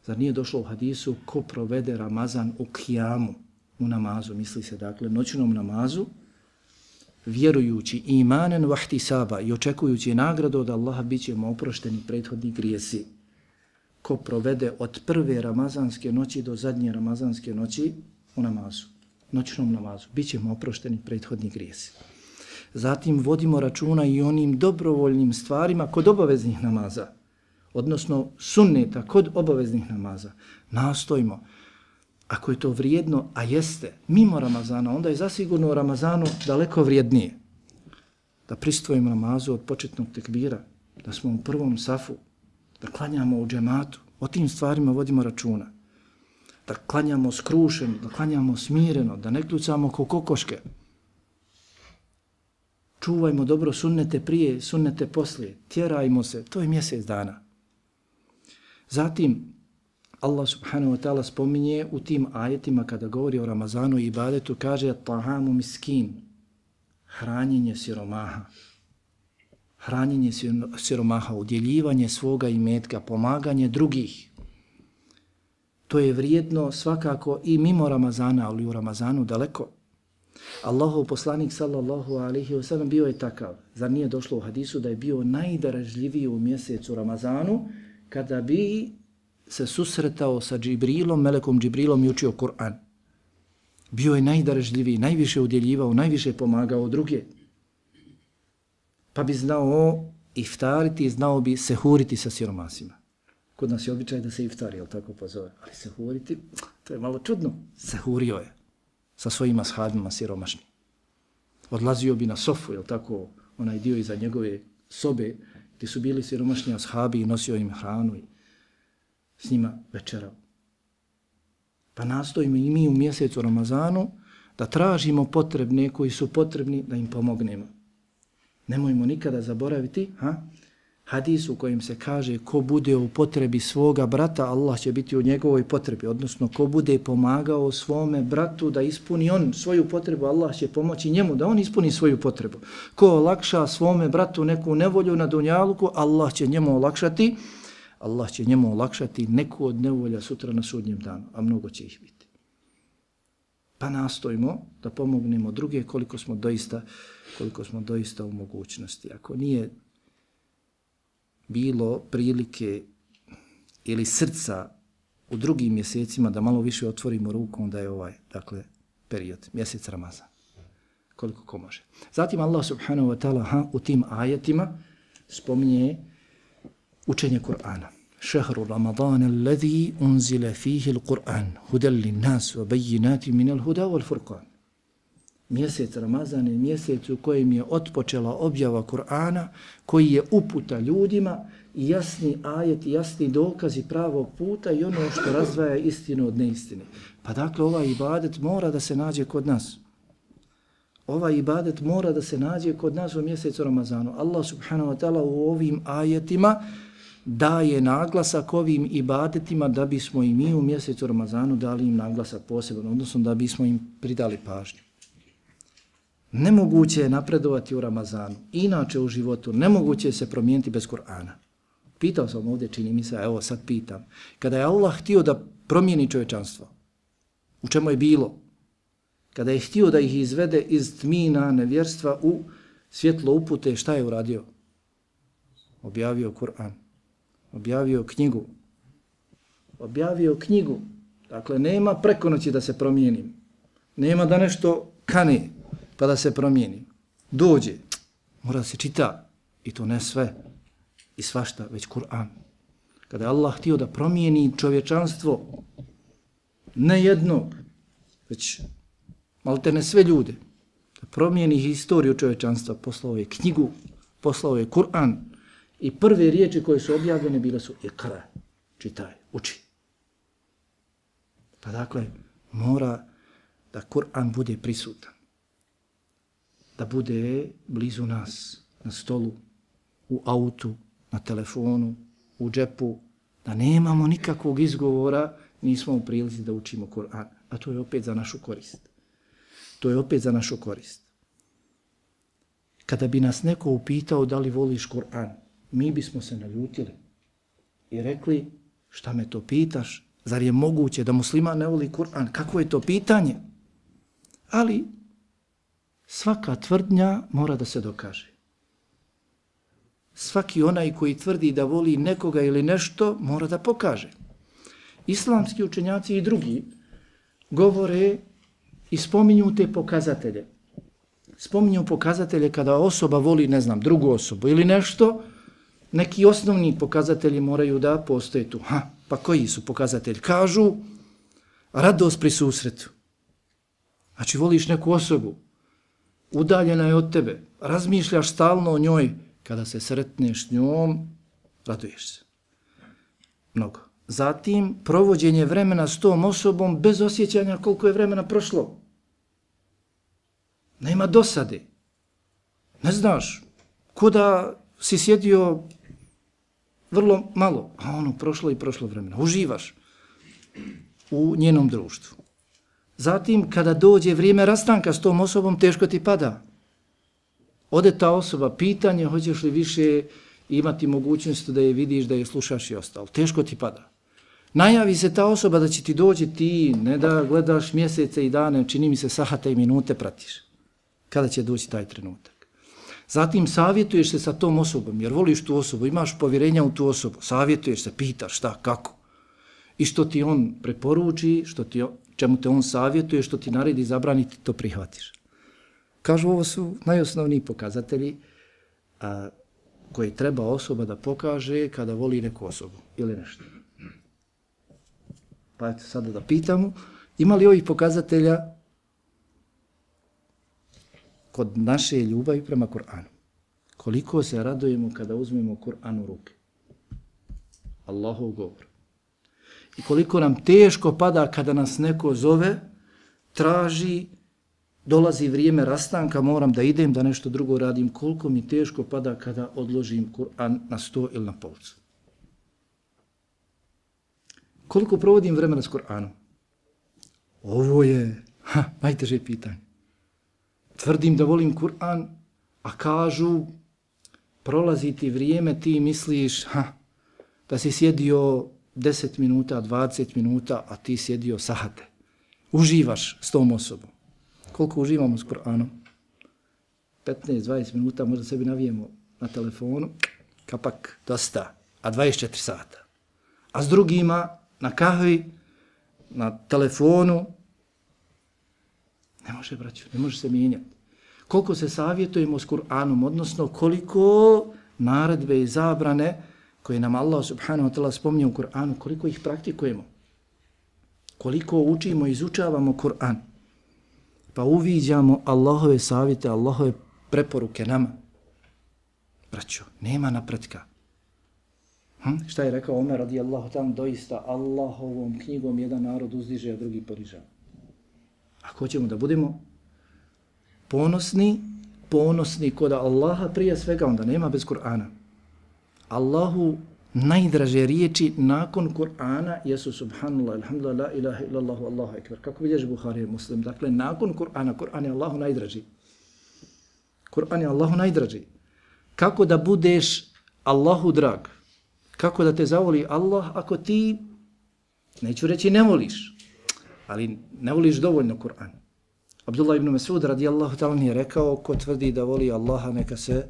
Zar nije došlo u hadisu ko provede Ramazan u kijamu, u namazu, misli se dakle noćnom namazu, vjerujući imanen vahtisaba i očekujući nagradu od Allaha, bit će mu oprošteni prethodni grijesi. Ko provede od prve ramazanske noći do zadnje ramazanske noći u namazu, noćnom namazu, bit će mu oprošteni prethodni grijesi. Zatim vodimo računa i onim dobrovoljnim stvarima kod obaveznih namaza, odnosno sunneta kod obaveznih namaza. Nastojimo, ako je to vrijedno, a jeste, mimo Ramazana, onda je zasigurno u Ramazanu daleko vrijednije. Da pristvojimo namazu od početnog tekbira, da smo u prvom safu, da klanjamo u džematu, o tim stvarima vodimo računa. Da klanjamo skrušeno, da klanjamo smireno, da ne kljucamo ko kokoške. Čuvajmo dobro sunnete prije, sunnete poslije, tjerajmo se, to je mjesec dana. Zatim, Allah subhanahu wa ta'ala spominje u tim ajetima kada govori o Ramazanu i ibadetu, kaže tahamu miskin, hranjenje siromaha. Hranjenje siromaha, udjeljivanje svoga imetka, pomaganje drugih. To je vrijedno svakako i mimo Ramazana, ali u Ramazanu daleko. Allahov poslanik sallallahu alaihi wa sallam bio je takav. Zar nije došlo u hadisu da je bio najdarežljiviji u mjesecu Ramazanu kada bi se susretao sa Džibrilom, melekom Džibrilom i učio Kur'an. Bio je najdarežljiviji, najviše udjeljivao, najviše pomagao druge. Pa bi znao iftariti, znao bi sehuriti sa siromasima. Kod nas je običaj da se iftari, jel tako pozove? Ali sehuriti, to je malo čudno. Sehurio je sa svojim ashabima siromašnim. Odlazio bi na sofu, jel tako, onaj dio iza njegove sobe, gdje su bili siromašni ashabi i nosio im hranu i s njima večerao. Pa nastojimo i mi u mjesecu Ramazanu da tražimo potrebne koji su potrebni da im pomognemo. Nemojmo nikada zaboraviti hadis u kojem se kaže ko bude u potrebi svoga brata, Allah će biti u njegovoj potrebi. Odnosno, ko bude pomagao svome bratu da ispuni on svoju potrebu, Allah će pomoći njemu da on ispuni svoju potrebu. Ko olakša svome bratu neku nevolju na dunjaluku, Allah će njemu olakšati neku od nevolja sutra na sudnjem danu, a mnogo će ih biti. Pa nastojimo da pomognemo druge koliko smo doista u mogućnosti. Ako nije bilo prilike ili srca u drugim mjesecima da malo više otvorimo rukom, da je ovaj, dakle, period, mjesec Ramazan. Koliko ko može. Zatim Allah subhanahu wa ta'ala u tim ajetima spominje učenje Kur'ana. Šehru Ramadana alladhi unzila fihi al-Qur'an hudan lin-nas wa bayyinatin min al-huda wal-furqan. Mjesec Ramazan je mjesec u kojem je otpočela objava Kur'ana, koji je uputa ljudima i jasni ajet, jasni dokazi pravog puta i ono što razdvaja istinu od neistine. Pa dakle, ovaj ibadet mora da se nađe kod nas. Ovaj ibadet mora da se nađe kod nas u mjesecu Ramazanu. Allah subhanahu wa ta'ala u ovim ajetima daje naglasak ovim ibadetima da bismo i mi u mjesecu Ramazanu dali im naglasak poseban, odnosno da bismo im pridali pažnju. Nemoguće je napredovati u Ramazanu. Inače u životu nemoguće je se promijeniti bez Kur'ana. Pitao sam ovdje, čini mi se, a evo sad pitam. Kada je Allah htio da promijeni čovječanstvo, u čemu je bilo? Kada je htio da ih izvede iz tmina nevjerstva u svjetlo upute, šta je uradio? Objavio Kur'an. Objavio knjigu. Objavio knjigu. Dakle, nema preko noći da se promijenim. Nema da nešto kane pa da se promijeni. Dođe. Mora da se čita. I to ne sve i svašta, već Kur'an. Kada je Allah htio da promijeni čovječanstvo, ne jednog, već maltene sve ljude, da promijeni historiju čovječanstva, poslao je knjigu, poslao je Kur'an i prve riječi koje su objavljene bile su ikra, čitaj, uči. Pa dakle, mora da Kur'an bude prisutan, da bude blizu nas, na stolu, u autu, na telefonu, u džepu, da nemamo nikakvog izgovora, nismo u prilici da učimo Kur'an. A to je opet za našu korist. To je opet za našu korist. Kada bi nas neko upitao da li voliš Kur'an, mi bismo se naljutili i rekli, šta me to pitaš? Zar je moguće da musliman ne voli Kur'an? Kako je to pitanje? Ali svaka tvrdnja mora da se dokaže. Svaki onaj koji tvrdi da voli nekoga ili nešto, mora da pokaže. Islamski učenjaci i drugi govore i spominju te pokazatelje. Spominju pokazatelje kada osoba voli, ne znam, drugu osobu ili nešto, neki osnovni pokazatelji moraju da postoje tu. Pa koji su pokazatelji? Kažu radost pri susretu. Znači voliš neku osobu, udaljena je od tebe, razmišljaš stalno o njoj, kada se sretneš s njom, raduješ se. Mnogo. Zatim, provođenje vremena s tom osobom bez osjećanja koliko je vremena prošlo. Nema dosade. Ne znaš, ko da si sjedio vrlo malo, a ono prošlo i prošlo vremena. Uživaš u njenom društvu. Zatim, kada dođe vrijeme rastanka s tom osobom, teško ti pada. Ode ta osoba, pitanje, hoćeš li više imati mogućnost da je vidiš, da je slušaš i ostalo. Teško ti pada. Najavi se ta osoba da će ti doći, ti ne da gledaš mjesece i dane, čini mi se sahate i minute pratiš. Kada će doći taj trenutak. Zatim savjetuješ se sa tom osobom, jer voliš tu osobu, imaš povjerenja u tu osobu, savjetuješ se, pitaš šta, kako. I što ti on preporuči, čemu te on savjetuje, što ti naredi, zabrani, ti to prihvatiš. Kažu, ovo su najosnovniji pokazatelji koje treba osoba da pokaže kada voli neku osobu ili nešto. Pa eto sada da pitamo, ima li ovih pokazatelja kod naše ljubavi prema Kur'anu? Koliko se radujemo kada uzmemo Kur'an u ruke? Allahov govor. I koliko nam teško pada kada nas neko zove, traži, dolazi vrijeme rastanka, moram da idem, da nešto drugo radim, koliko mi teško pada kada odložim Kur'an na sto ili na policu. Koliko provodim vremena s Kur'anom? Ovo je najteže pitanje. Tvrdim da volim Kur'an, a kažu, prolazi ti vrijeme, ti misliš da si sjedio 10 minuta, 20 minuta, a ti sjedio sahate. Uživaš s tom osobom. Koliko uživamo s Kur'anom? 15-20 minuta možda sebi navijemo na telefonu, kapak, dosta, a 24 sata. A s drugima na kahvi, na telefonu, ne može, braću, ne može se mijenjati. Koliko se savjetujemo s Kur'anom, odnosno koliko naredbe i zabrane koje nam Allah subhanahu wa ta'ala spominje u Kur'anu, koliko ih praktikujemo, koliko učimo i izučavamo Kur'an, pa uviđamo Allahove savjete, Allahove preporuke nama. Braćo, nema napretka. Šta je rekao Omer radijallahu ta'ala, doista Allahovom knjigom jedan narod uzdiže, a drugi ponižava. Ako hoćemo da budemo ponosni kod Allaha prije svega, onda nema bez Kur'ana. Allahu najdraže riječi nakon Kur'ana jesu subhanallah, alhamdulillah, la ilaha illallahu, Allahu ekber. Kako bilježi Buhari i Muslim? Dakle, nakon Kur'ana, Kur'an je Allahu najdraži. Kur'an je Allahu najdraži. Kako da budeš Allahu drag? Kako da te zavoli Allah ako ti, neću reći ne voliš, ali ne voliš dovoljno Kur'an. Abdullah ibn Mas'ud radijallahu ta'ala je rekao, ko tvrdi da voli Allaha, neka se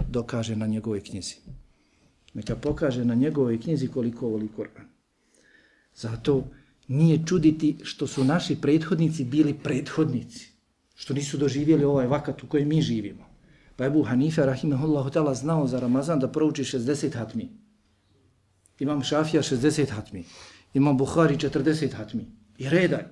dokaže na njegovoj knjizi. Neka pokaže na njegovoj knjizi koliko voli Kur'an. Zato nije čuditi što su naši prethodnici bili prethodnici, što nisu doživjeli ovaj vakat u kojem mi živimo. Pa Ebu Hanife, rahimahullahu ta'ala, znao za Ramazan da prouči 60 hatmi. Imam Šafija 60 hatmi. Imam Buhari 40 hatmi. I redaj.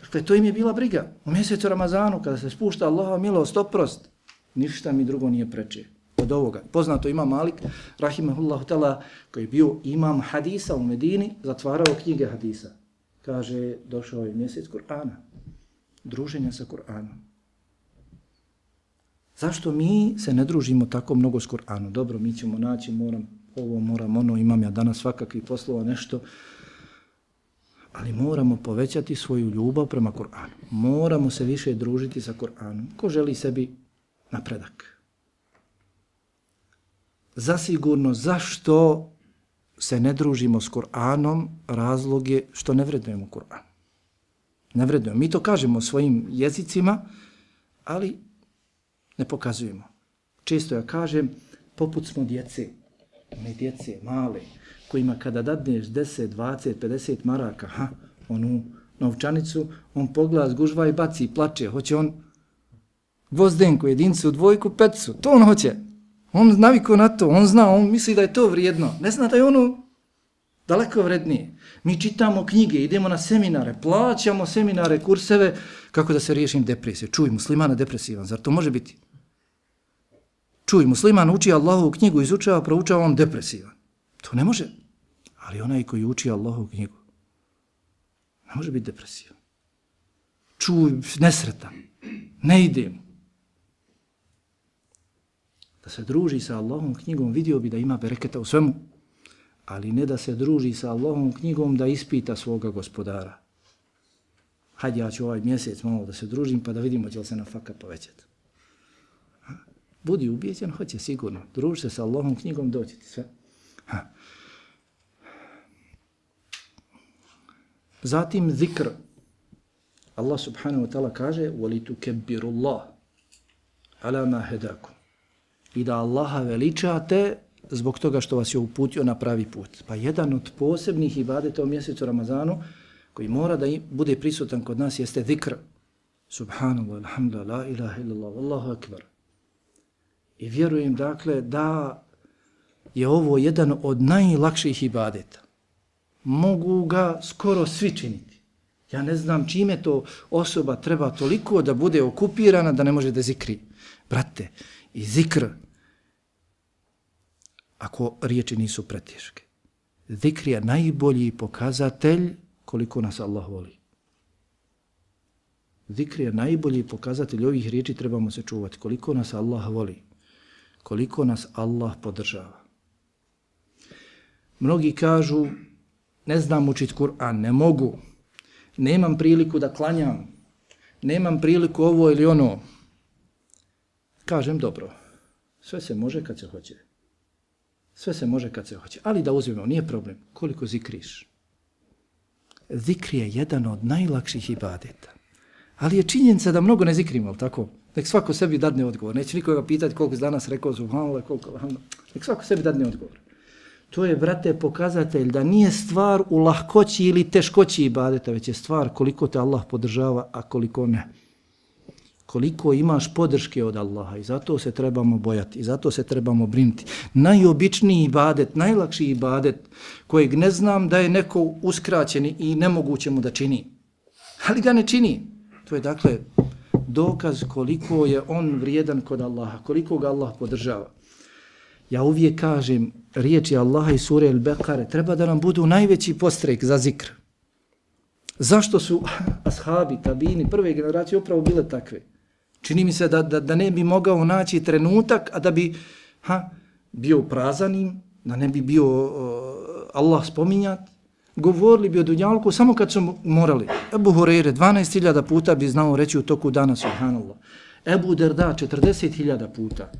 Dakle, to im je bila briga. U mjesecu Ramazanu, kada se spušta Allahova milost, oprost, ništa mi drugo nije preče od ovoga. Poznato ima Malik, rahimahullahu ta'ala, koji je bio imam hadisa u Medini, zatvarao knjige hadisa. Kaže, došao je mjesec Kur'ana. Druženja sa Kur'anom. Zašto mi se ne družimo tako mnogo s Kur'anom? Dobro, mi ćemo naći, moram ono, imam ja danas svakakvih poslova, nešto, ali moramo povećati svoju ljubav prema Kur'anu. Moramo se više družiti sa Kur'anom. Ko želi sebi napredak? Zasigurno, zašto se ne družimo s Kur'anom, razlog je što ne vrednujemo Kur'an. Ne vrednujemo. Mi to kažemo svojim jezicima, ali ne pokazujemo. Često ja kažem, poput smo djece, one djece male, kojima kada dadneš 10, 20, 50 maraka, onu novčanicu, on pogleda, zgužva i baci i plače. Hoće on gvozdenku, jedincu, dvojku, peticu. To on hoće. On navikao na to, on zna, on misli da je to vrijedno. Ne zna da je ono daleko vrednije. Mi čitamo knjige, idemo na seminare, plaćamo seminare, kurseve, kako da se riješim depresije. Čuj, muslimana depresivan, zar to može biti? Čuj, musliman uči Allahovu knjigu, izučava, proučava, on depresivan. To ne može. Ali onaj koji uči Allahovu knjigu, ne može biti depresivan. Čuj, nesretan, ne idem. Da se druži sa Allahovom knjigom, vidio bi da ima bereketa u svemu, ali ne da se druži sa Allahovom knjigom da ispita svoga gospodara. Hajde, ja ću ovaj mjesec malo da se družim pa da vidimo će li se na fakat povećati. Budi ubijeđen, hoće sigurno. Druži se sa Allahovom knjigom, doći ti sve. Zatim zikr. Allah subhanahu wa ta'ala kaže وَلِتُكَبِّرُ اللَّهِ عَلَى مَا هَدَاكُمْ. I da Allaha veličate zbog toga što vas je uputio na pravi put. Pa jedan od posebnih ibadeta u mjesecu Ramazanu koji mora da bude prisutan kod nas jeste zikr. Subhanallah, alhamdulillah, la ilaha illallah, Allahu akbar. I vjerujem dakle da je ovo jedan od najlakših ibadeta. Mogu ga skoro svi činiti. Ja ne znam čime to osoba treba toliko da bude okupirana da ne može da zikri. Brate, i zikr, ako riječi nisu preteške. Zikr je najbolji pokazatelj koliko nas Allah voli. Zikr je najbolji pokazatelj, ovih riječi trebamo se čuvati, koliko nas Allah voli, koliko nas Allah podržava. Mnogi kažu, ne znam učiti Kur'an, ne mogu, nemam priliku da klanjam, nemam priliku ovo ili ono. Kažem, dobro, sve se može kad se hoće. Sve se može kad se hoće. Ali da uzmemo, nije problem. Koliko zikriš? Zikr je jedan od najlakših ibadeta. Ali je činjenica da mnogo ne zikrimo, ali tako? Nek svako sebi dadne odgovor. Neće nikoga pitati koliko danas rekao subhanallah, koliko alhamdulillah. Nek svako sebi dadne odgovor. To je, brate, pokazatelj da nije stvar u lahkoći ili teškoći ibadeta, već je stvar koliko te Allah podržava, a koliko ne. Koliko imaš podrške od Allaha i zato se trebamo bojati i zato se trebamo brinuti. Najobičniji ibadet, najlakši ibadet kojeg ne znam da je neko uskraćen i nemoguće mu da čini. Ali ga ne čini. To je dakle dokaz koliko je on vrijedan kod Allaha, koliko ga Allah podržava. Ja uvijek kažem, riječi Allaha iz sure Al-Bekare treba da nam budu najveći postrek za zikr. Zašto su ashabi, tabini, prve generacije upravo bile takve? Čini mi se da ne bi mogao naći trenutak, a da bi bio prazanim, da ne bi bio Allah spominjat. Govorili bi o dunjalku samo kad su morali. Ebu Hureyre 12.000 puta bi znao reći u toku dana subhanallah. Ebu Derda 40.000 puta.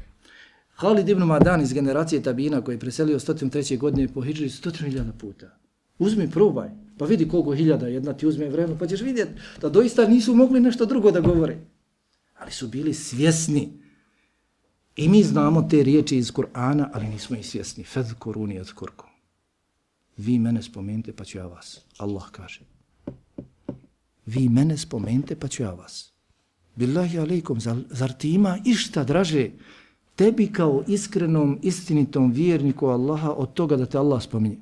Halid ibn Madan iz generacije Tabina koji je preselio 103. godine po hidžri 100.000 puta. Uzmi, probaj, pa vidi koliko hiljada, jedna ti uzme vremenu, pa ćeš vidjeti da doista nisu mogli nešto drugo da govore. Ali su bili svjesni. I mi znamo te riječi iz Kur'ana, ali nismo i svjesni. Fadhkuruni adhkurkum. Vi mene spomenite, pa ću ja vas. Allah kaže. Vi mene spomenite, pa ću ja vas. Billahi alejkum, zar ti ima išta draže tebi kao iskrenom, istinitom vjerniku Allaha od toga da te Allah spominje?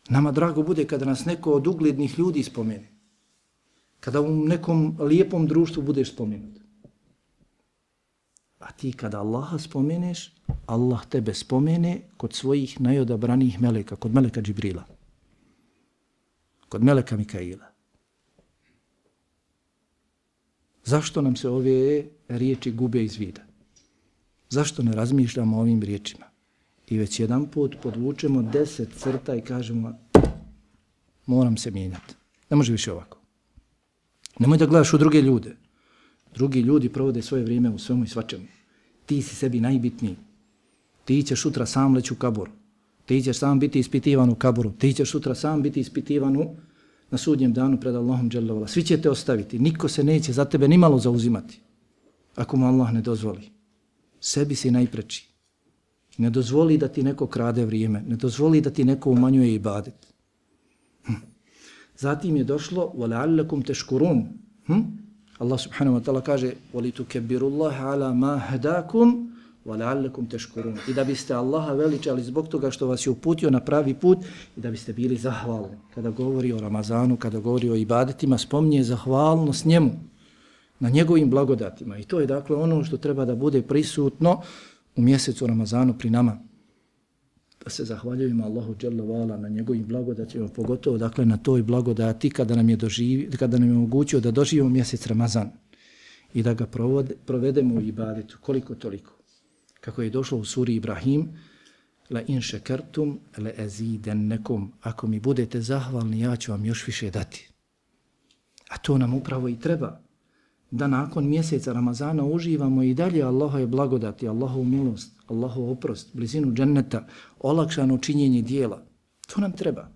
Nama drago bude kada nas neko od uglednih ljudi spomene. Kada u nekom lijepom društvu budeš spomenut. A ti kada Allaha spomeneš, Allah tebe spomene kod svojih najodabranijih meleka, kod meleka Džibrila, kod meleka Mikaila. Zašto nam se ove riječi gube iz vida? Zašto ne razmišljamo o ovim riječima? I već jedan put podvučemo 10 crta i kažemo moram se mijenjati. Ne može više ovako. Nemoj da gledaš u druge ljude. Drugi ljudi provode svoje vrijeme u svemu i svačemu. Ti si sebi najbitniji. Ti ćeš sutra sam leći u kabor. Ti ćeš sam biti ispitivan u kaboru. Ti ćeš sutra sam biti ispitivan na sudnjem danu pred Allahom dželle vala. Svi će te ostaviti. Niko se neće za tebe nimalo zauzimati. Ako mu Allah ne dozvoli. Sebi si najpreči. Ne dozvoli da ti neko krade vrijeme. Ne dozvoli da ti neko umanjuje ibadet. Zatim je došlo وَلَعَلَّكُمْ تَشْكُرُونَ Allah subhanahu wa ta'ala kaže وَلِتُكَبِّرُ اللَّهَ عَلَى مَا هَدَاكُمْ وَلَعَلَّكُمْ تَشْكُرُونَ I da biste Allaha veličali zbog toga što vas je uputio na pravi put i da biste bili zahvalni. Kada govori o Ramazanu, kada govori o ibadetima, spominje zahvalnost njemu, na njegovim blagodatima. I to je dakle ono što treba da bude prisutno u mjesecu Ramazanu pri nama. Da se zahvaljujemo Allahu dželle vala na njegovim blagodatima, pogotovo dakle na toj blagodati kada nam je omogućio da doživimo mjesec Ramazan i da ga provedemo u ibadetu koliko toliko. Kako je došlo u suri Ibrahim, la in shakartum la azidannakum, ako mi budete zahvalni ja ću vam još više dati. A to nam upravo i treba. Da nakon mjeseca Ramazana uživamo i dalje Allahove blagodati, Allahovu milost, Allahov oprost, blizinu dženneta, olakšano činjenje dijela. To nam treba.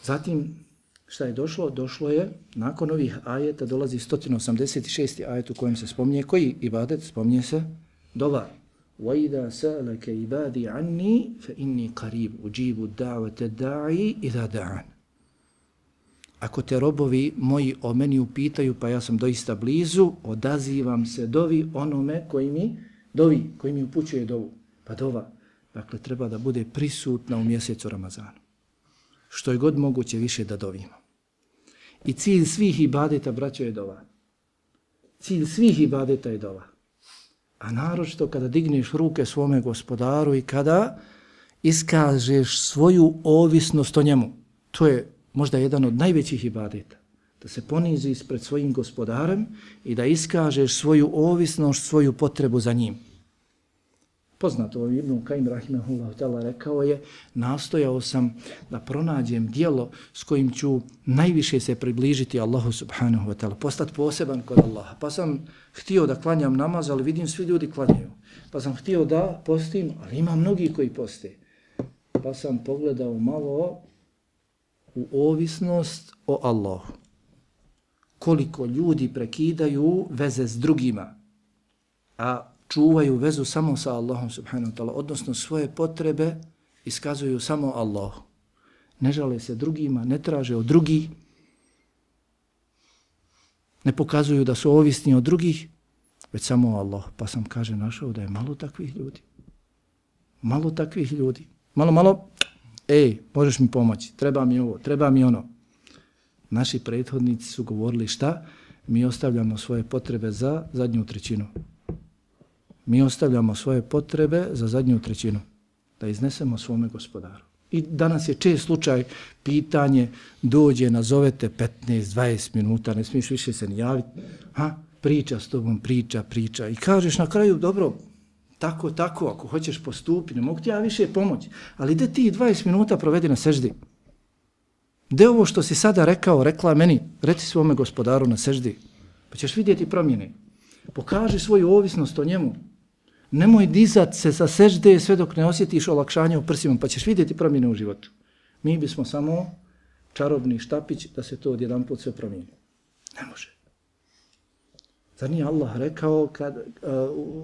Zatim, šta je došlo? Došlo je, nakon ovih ajeta, dolazi 186. ajet u kojem se spominje, koji ibadet? Spominje se dova. وَإِذَا سَأَلَكَ عِبَادِي عَنِّي فَإِنِّي قَرِيبُ أُجِيبُ دَعْوَةَ الدَّاعِ إِذَا دَعَانِ Ako te robovi moji o meni upitaju, pa ja sam doista blizu, odazivam se dovi onome koji mi upućuje dovu. Pa dova, dakle, treba da bude prisutna u mjesecu Ramazanu. Što je god moguće više da dovimo. I cilj svih ibadeta, braćo, je dova. Cilj svih ibadeta je dova. A naročito kada digneš ruke svome gospodaru i kada iskažeš svoju ovisnost o njemu. To je možda jedan od najvećih ibadeta. Da se ponizi ispred svojim gospodarem i da iskažeš svoju ovisnost, svoju potrebu za njim. Poznato Ibn Kajim rahimehullah ta'ala rekao je, nastojao sam da pronađem dijelo s kojim ću najviše se približiti Allahu subhanahu wa ta'ala, postati poseban kod Allaha. Pa sam htio da klanjam namaz, ali vidim svi ljudi klanjaju. Pa sam htio da postim, ali ima mnogi koji poste. Pa sam pogledao malo u ovisnost o Allahu. Koliko ljudi prekidaju veze s drugima, a čuvaju vezu samo sa Allahom subhanahu wa ta'ala, odnosno svoje potrebe iskazuju samo Allahu. Ne žale se drugima, ne traže od drugih, ne pokazuju da su ovisni od drugih, već samo Allah. Pa sam, kaže, našao da je malo takvih ljudi. Malo takvih ljudi. Malo, možeš mi pomoći, treba mi ovo, treba mi ono. Naši prethodnici su govorili šta? Mi ostavljamo svoje potrebe za zadnju trećinu. Mi ostavljamo svoje potrebe za zadnju trećinu. Da iznesemo svome gospodaru. I danas je čest slučaj, pitanje, dođe, nazovete 15-20 minuta, ne smiješ više se ni javiti. Priča s tobom, priča. I kažeš na kraju, dobro, tako, ako hoćeš postupi, ne mogu ti ja više pomoći. Ali gdje ti 20 minuta provedi na seždi? Gdje ovo što si sada rekla meni, reci svome gospodaru na seždi, pa ćeš vidjeti promjene. Pokaži svoju ovisnost o njemu. Nemoj dizat se sa sežde sve dok ne osjetiš olakšanje u prsima, pa ćeš vidjeti promjene u životu. Mi bismo samo čarobni štapić da se to odjedanput sve promijeni. Ne može. Zar nije Allah rekao,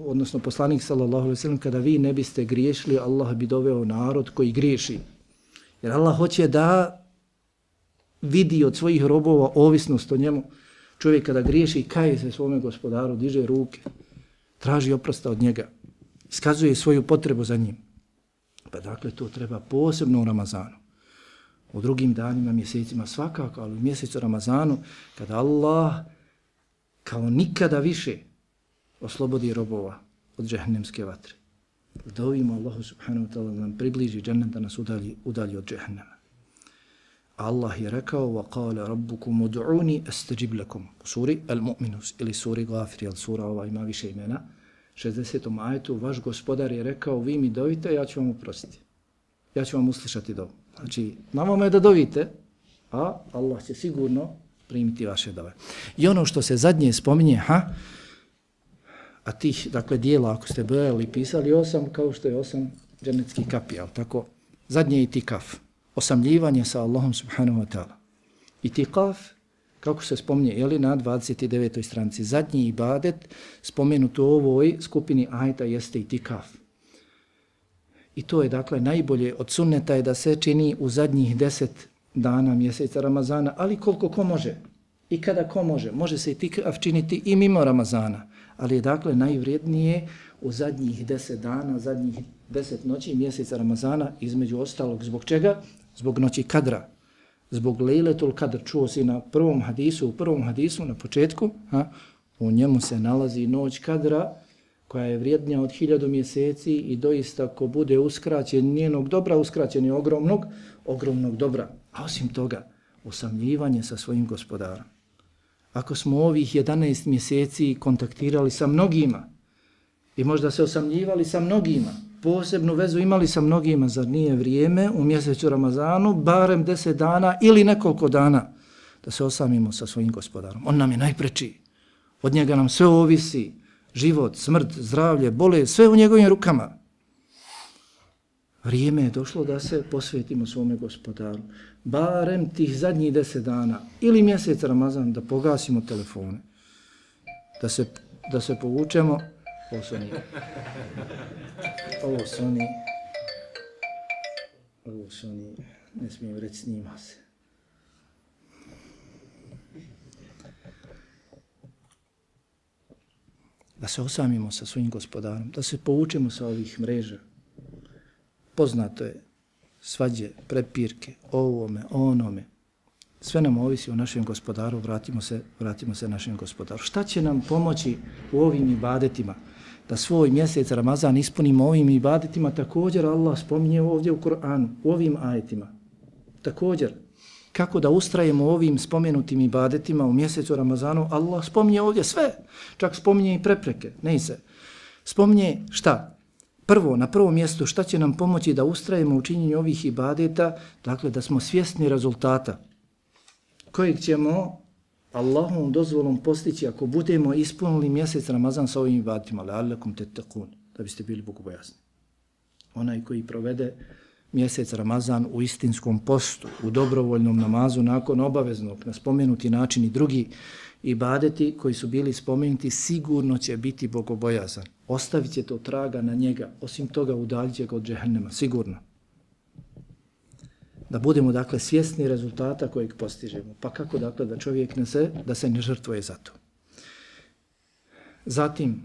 odnosno poslanik sallallahu alejhi ve sellem, kada vi ne biste griješili, Allah bi doveo narod koji griješi. Jer Allah hoće da vidi od svojih robova ovisnost o njemu. Čovjek kada griješi, kaje se svome gospodaru, diže ruke, traži oprosta od njega, iskazuje svoju potrebu za njim. Pa dakle, to treba posebno u Ramazanu. U drugim danima, mjesecima svakako, ali u mjesecu Ramazanu, kada Allah kao nikada više oslobodi robova od džehennemske vatre. Dovimo Allahu subhanahu wa ta'ala da nam približi džennet, da nas udalji od džehennema. Allah je rekao وَقَالَ رَبُّكُمُ دُعُونِ أَسْتَجِبْ لَكُمْ u suri Al-Mu'minus ili suri Gafir, jer sura ova ima više imena, 60. ajetu, vaš gospodar je rekao, vi mi dovite, ja ću vam oprostiti. Ja ću vam uslišati dovu. Znači, na vama je da dovite, a Allah će sigurno primiti vaše dove. I ono što se zadnje spominje, a tih, dakle, dijela, ako ste brojali i pisali 8, kao što je 8 džennetskih kapija, tako, zadnje je itikaf, osamljivanje sa Allahom subhanahu wa ta'ala. Itikaf, kako se spominje, jeli, na 29. stranici, zadnji ibadet spomenut u ovoj skupini ajeta jeste itikaf. I to je, dakle, najbolje od sunneta je da se čini u zadnjih 10 dana mjeseca Ramazana, ali koliko ko može i kada ko može. Može se itikaf činiti i mimo Ramazana, ali je, dakle, najvrijednije u zadnjih 10 dana, zadnjih 10 noći mjeseca Ramazana, između ostalog. Zbog čega? Zbog noći kadra. Zbog Lejletul Kadr. Čuo si u prvom hadisu, na početku, u njemu se nalazi noć kadra, koja je vrijednija od 1000 mjeseci i doista ko bude uskraćen njenog dobra, uskraćen je ogromnog dobra. A osim toga, osamljivanje sa svojim gospodarom. Ako smo ovih 11 mjeseci kontaktirali sa mnogima i možda se osamljivali sa mnogima, posebnu vezu imali sa mnogima, zar nije vrijeme u mjesecu Ramazanu, barem 10 dana ili nekoliko dana, da se osamimo sa svojim gospodarom. On nam je najpreči. Od njega nam sve ovisi. Život, smrt, zdravlje, bolest, sve u njegovim rukama. Vrijeme je došlo da se posvetimo svome gospodaru. Barem tih zadnjih 10 dana ili mjesec Ramazan da pogasimo telefone. Da se povučemo. Ovo su oni, ne smijem reći, snima se. Da se osamimo sa svojim gospodarom, da se povučemo sa ovih mreža. Poznato je svađe, prepirke, ovome, onome. Sve nam ovisi o našem gospodaru, vratimo se našem gospodaru. Šta će nam pomoći u ovim ibadetima? Da svoj mjesec Ramazan ispunimo ovim ibadetima, također Allah spominje ovdje u Kur'anu, u ovim ajetima. Također, kako da ustrajemo ovim spomenutim ibadetima u mjesecu Ramazanu, Allah spominje ovdje sve, čak spominje i prepreke, ne se. Spominje šta? Prvo, na prvom mjestu, šta će nam pomoći da ustrajemo u činjenju ovih ibadeta, dakle da smo svjesni rezultata kojeg ćemo Allahom dozvolom postići ako budemo ispunili mjesec Ramazan sa ovim ibadetima, la'allakum tattaqun, da biste bili bogobojazni. Onaj koji provede mjesec Ramazan u istinskom postu, u dobrovoljnom namazu nakon obaveznog, na spomenuti način i drugi ibadeti koji su bili spomenuti, sigurno će biti bogobojazan. Ostavit će to traga na njega, osim toga udaljit će ga od džehennema, sigurno. Da budemo, dakle, svjesni rezultata kojeg postižemo. Pa kako, dakle, da čovjek da se ne žrtvuje za to. Zatim,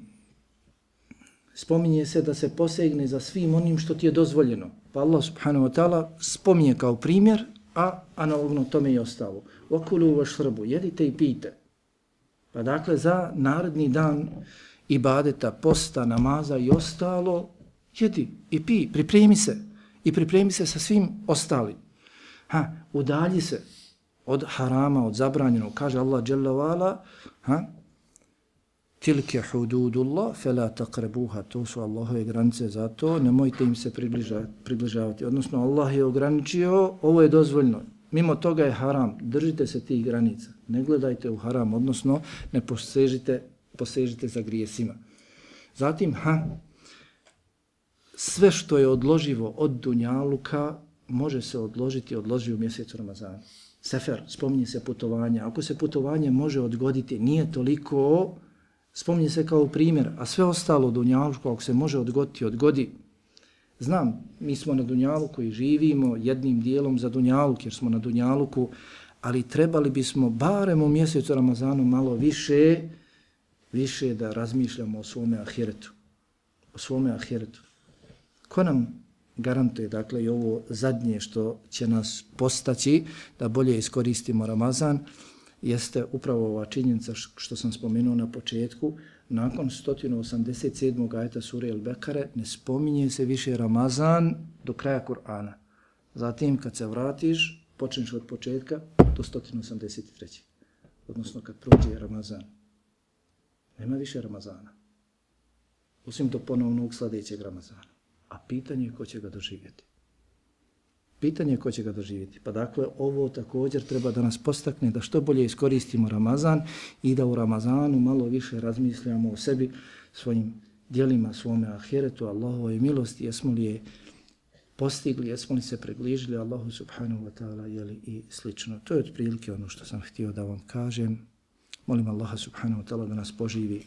spominje se da se posegne za svim onim što ti je dozvoljeno. Pa Allah subhanahu wa ta'ala spominje kao primjer, a analogno tome i ostalo. وَكُلُوا وَشْرَبُوا, jedite i pijte. Pa dakle, za naredni dan ibadeta, posta, namaza i ostalo, jedi i pij, pripremi se. I pripremi se sa svim ostalim. Udalji se od harama, od zabranjenog. Kaže Allah dželle ve ala, tilke hududullah, fela taqrabuha, to su Allahove granice, zato nemojte im se približavati. Odnosno, Allah je ograničio, ovo je dozvoljno. Mimo toga je haram, držite se tih granica. Ne gledajte u haram, odnosno ne posežite posežite za grijesima. Zatim, sve što je odloživo od dunjaluka može se odložiti, odloži u mjesecu Ramazana. Sefer, spominje se putovanje. Ako se putovanje može odgoditi, nije toliko, spominje se kao primjer, a sve ostalo dunjaluku, ako se može odgoditi, odgodi. Znam, mi smo na dunjaluku i živimo jednim dijelom za dunjaluk, jer smo na dunjaluku, ali trebali bismo barem u mjesecu Ramazanu malo više da razmišljamo o svome ahiretu. O svome ahiretu. Ko nam garantuje, dakle, i ovo zadnje što će nas postaći da bolje iskoristimo Ramazan, jeste upravo ova činjenica što sam spomenuo na početku. Nakon 187. ajeta sure El-Bekare ne spominje se više Ramazan do kraja Kur'ana. Zatim, kad se vratiš, počneš od početka do 183. Odnosno, kad prođe Ramazan. Nema više Ramazana. Osim do ponovnog sljedećeg Ramazana. A pitanje je ko će ga doživjeti. Pitanje je ko će ga doživjeti. Pa dakle, ovo također treba da nas postakne da što bolje iskoristimo Ramazan i da u Ramazanu malo više razmišljamo o sebi, svojim djelima, svome ahiretu, Allahovoj milosti, jesmo li je postigli, jesmo li se približili Allahu subhanahu wa ta'ala, jeli i slično. To je otprilike ono što sam htio da vam kažem. Molim Allaha subhanahu wa ta'ala da nas poživi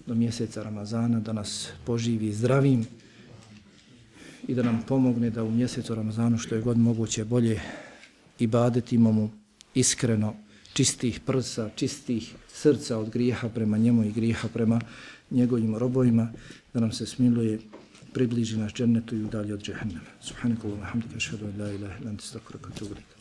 do mjeseca Ramazana, da nas poživi zdravim i da nam pomogne da u mjesecu Ramazanu što je god moguće bolje ibadetimo mu iskreno, čistih prsa, čistih srca od grijeha prema njemu i grijeha prema njegovim robovima, da nam se smiluje, približi nas džennetu i udalji od džehennema. Subhanakallahumma hamdika, ashhadu an la ilaha illa anta, astaghfiruka wa atubu ilaik.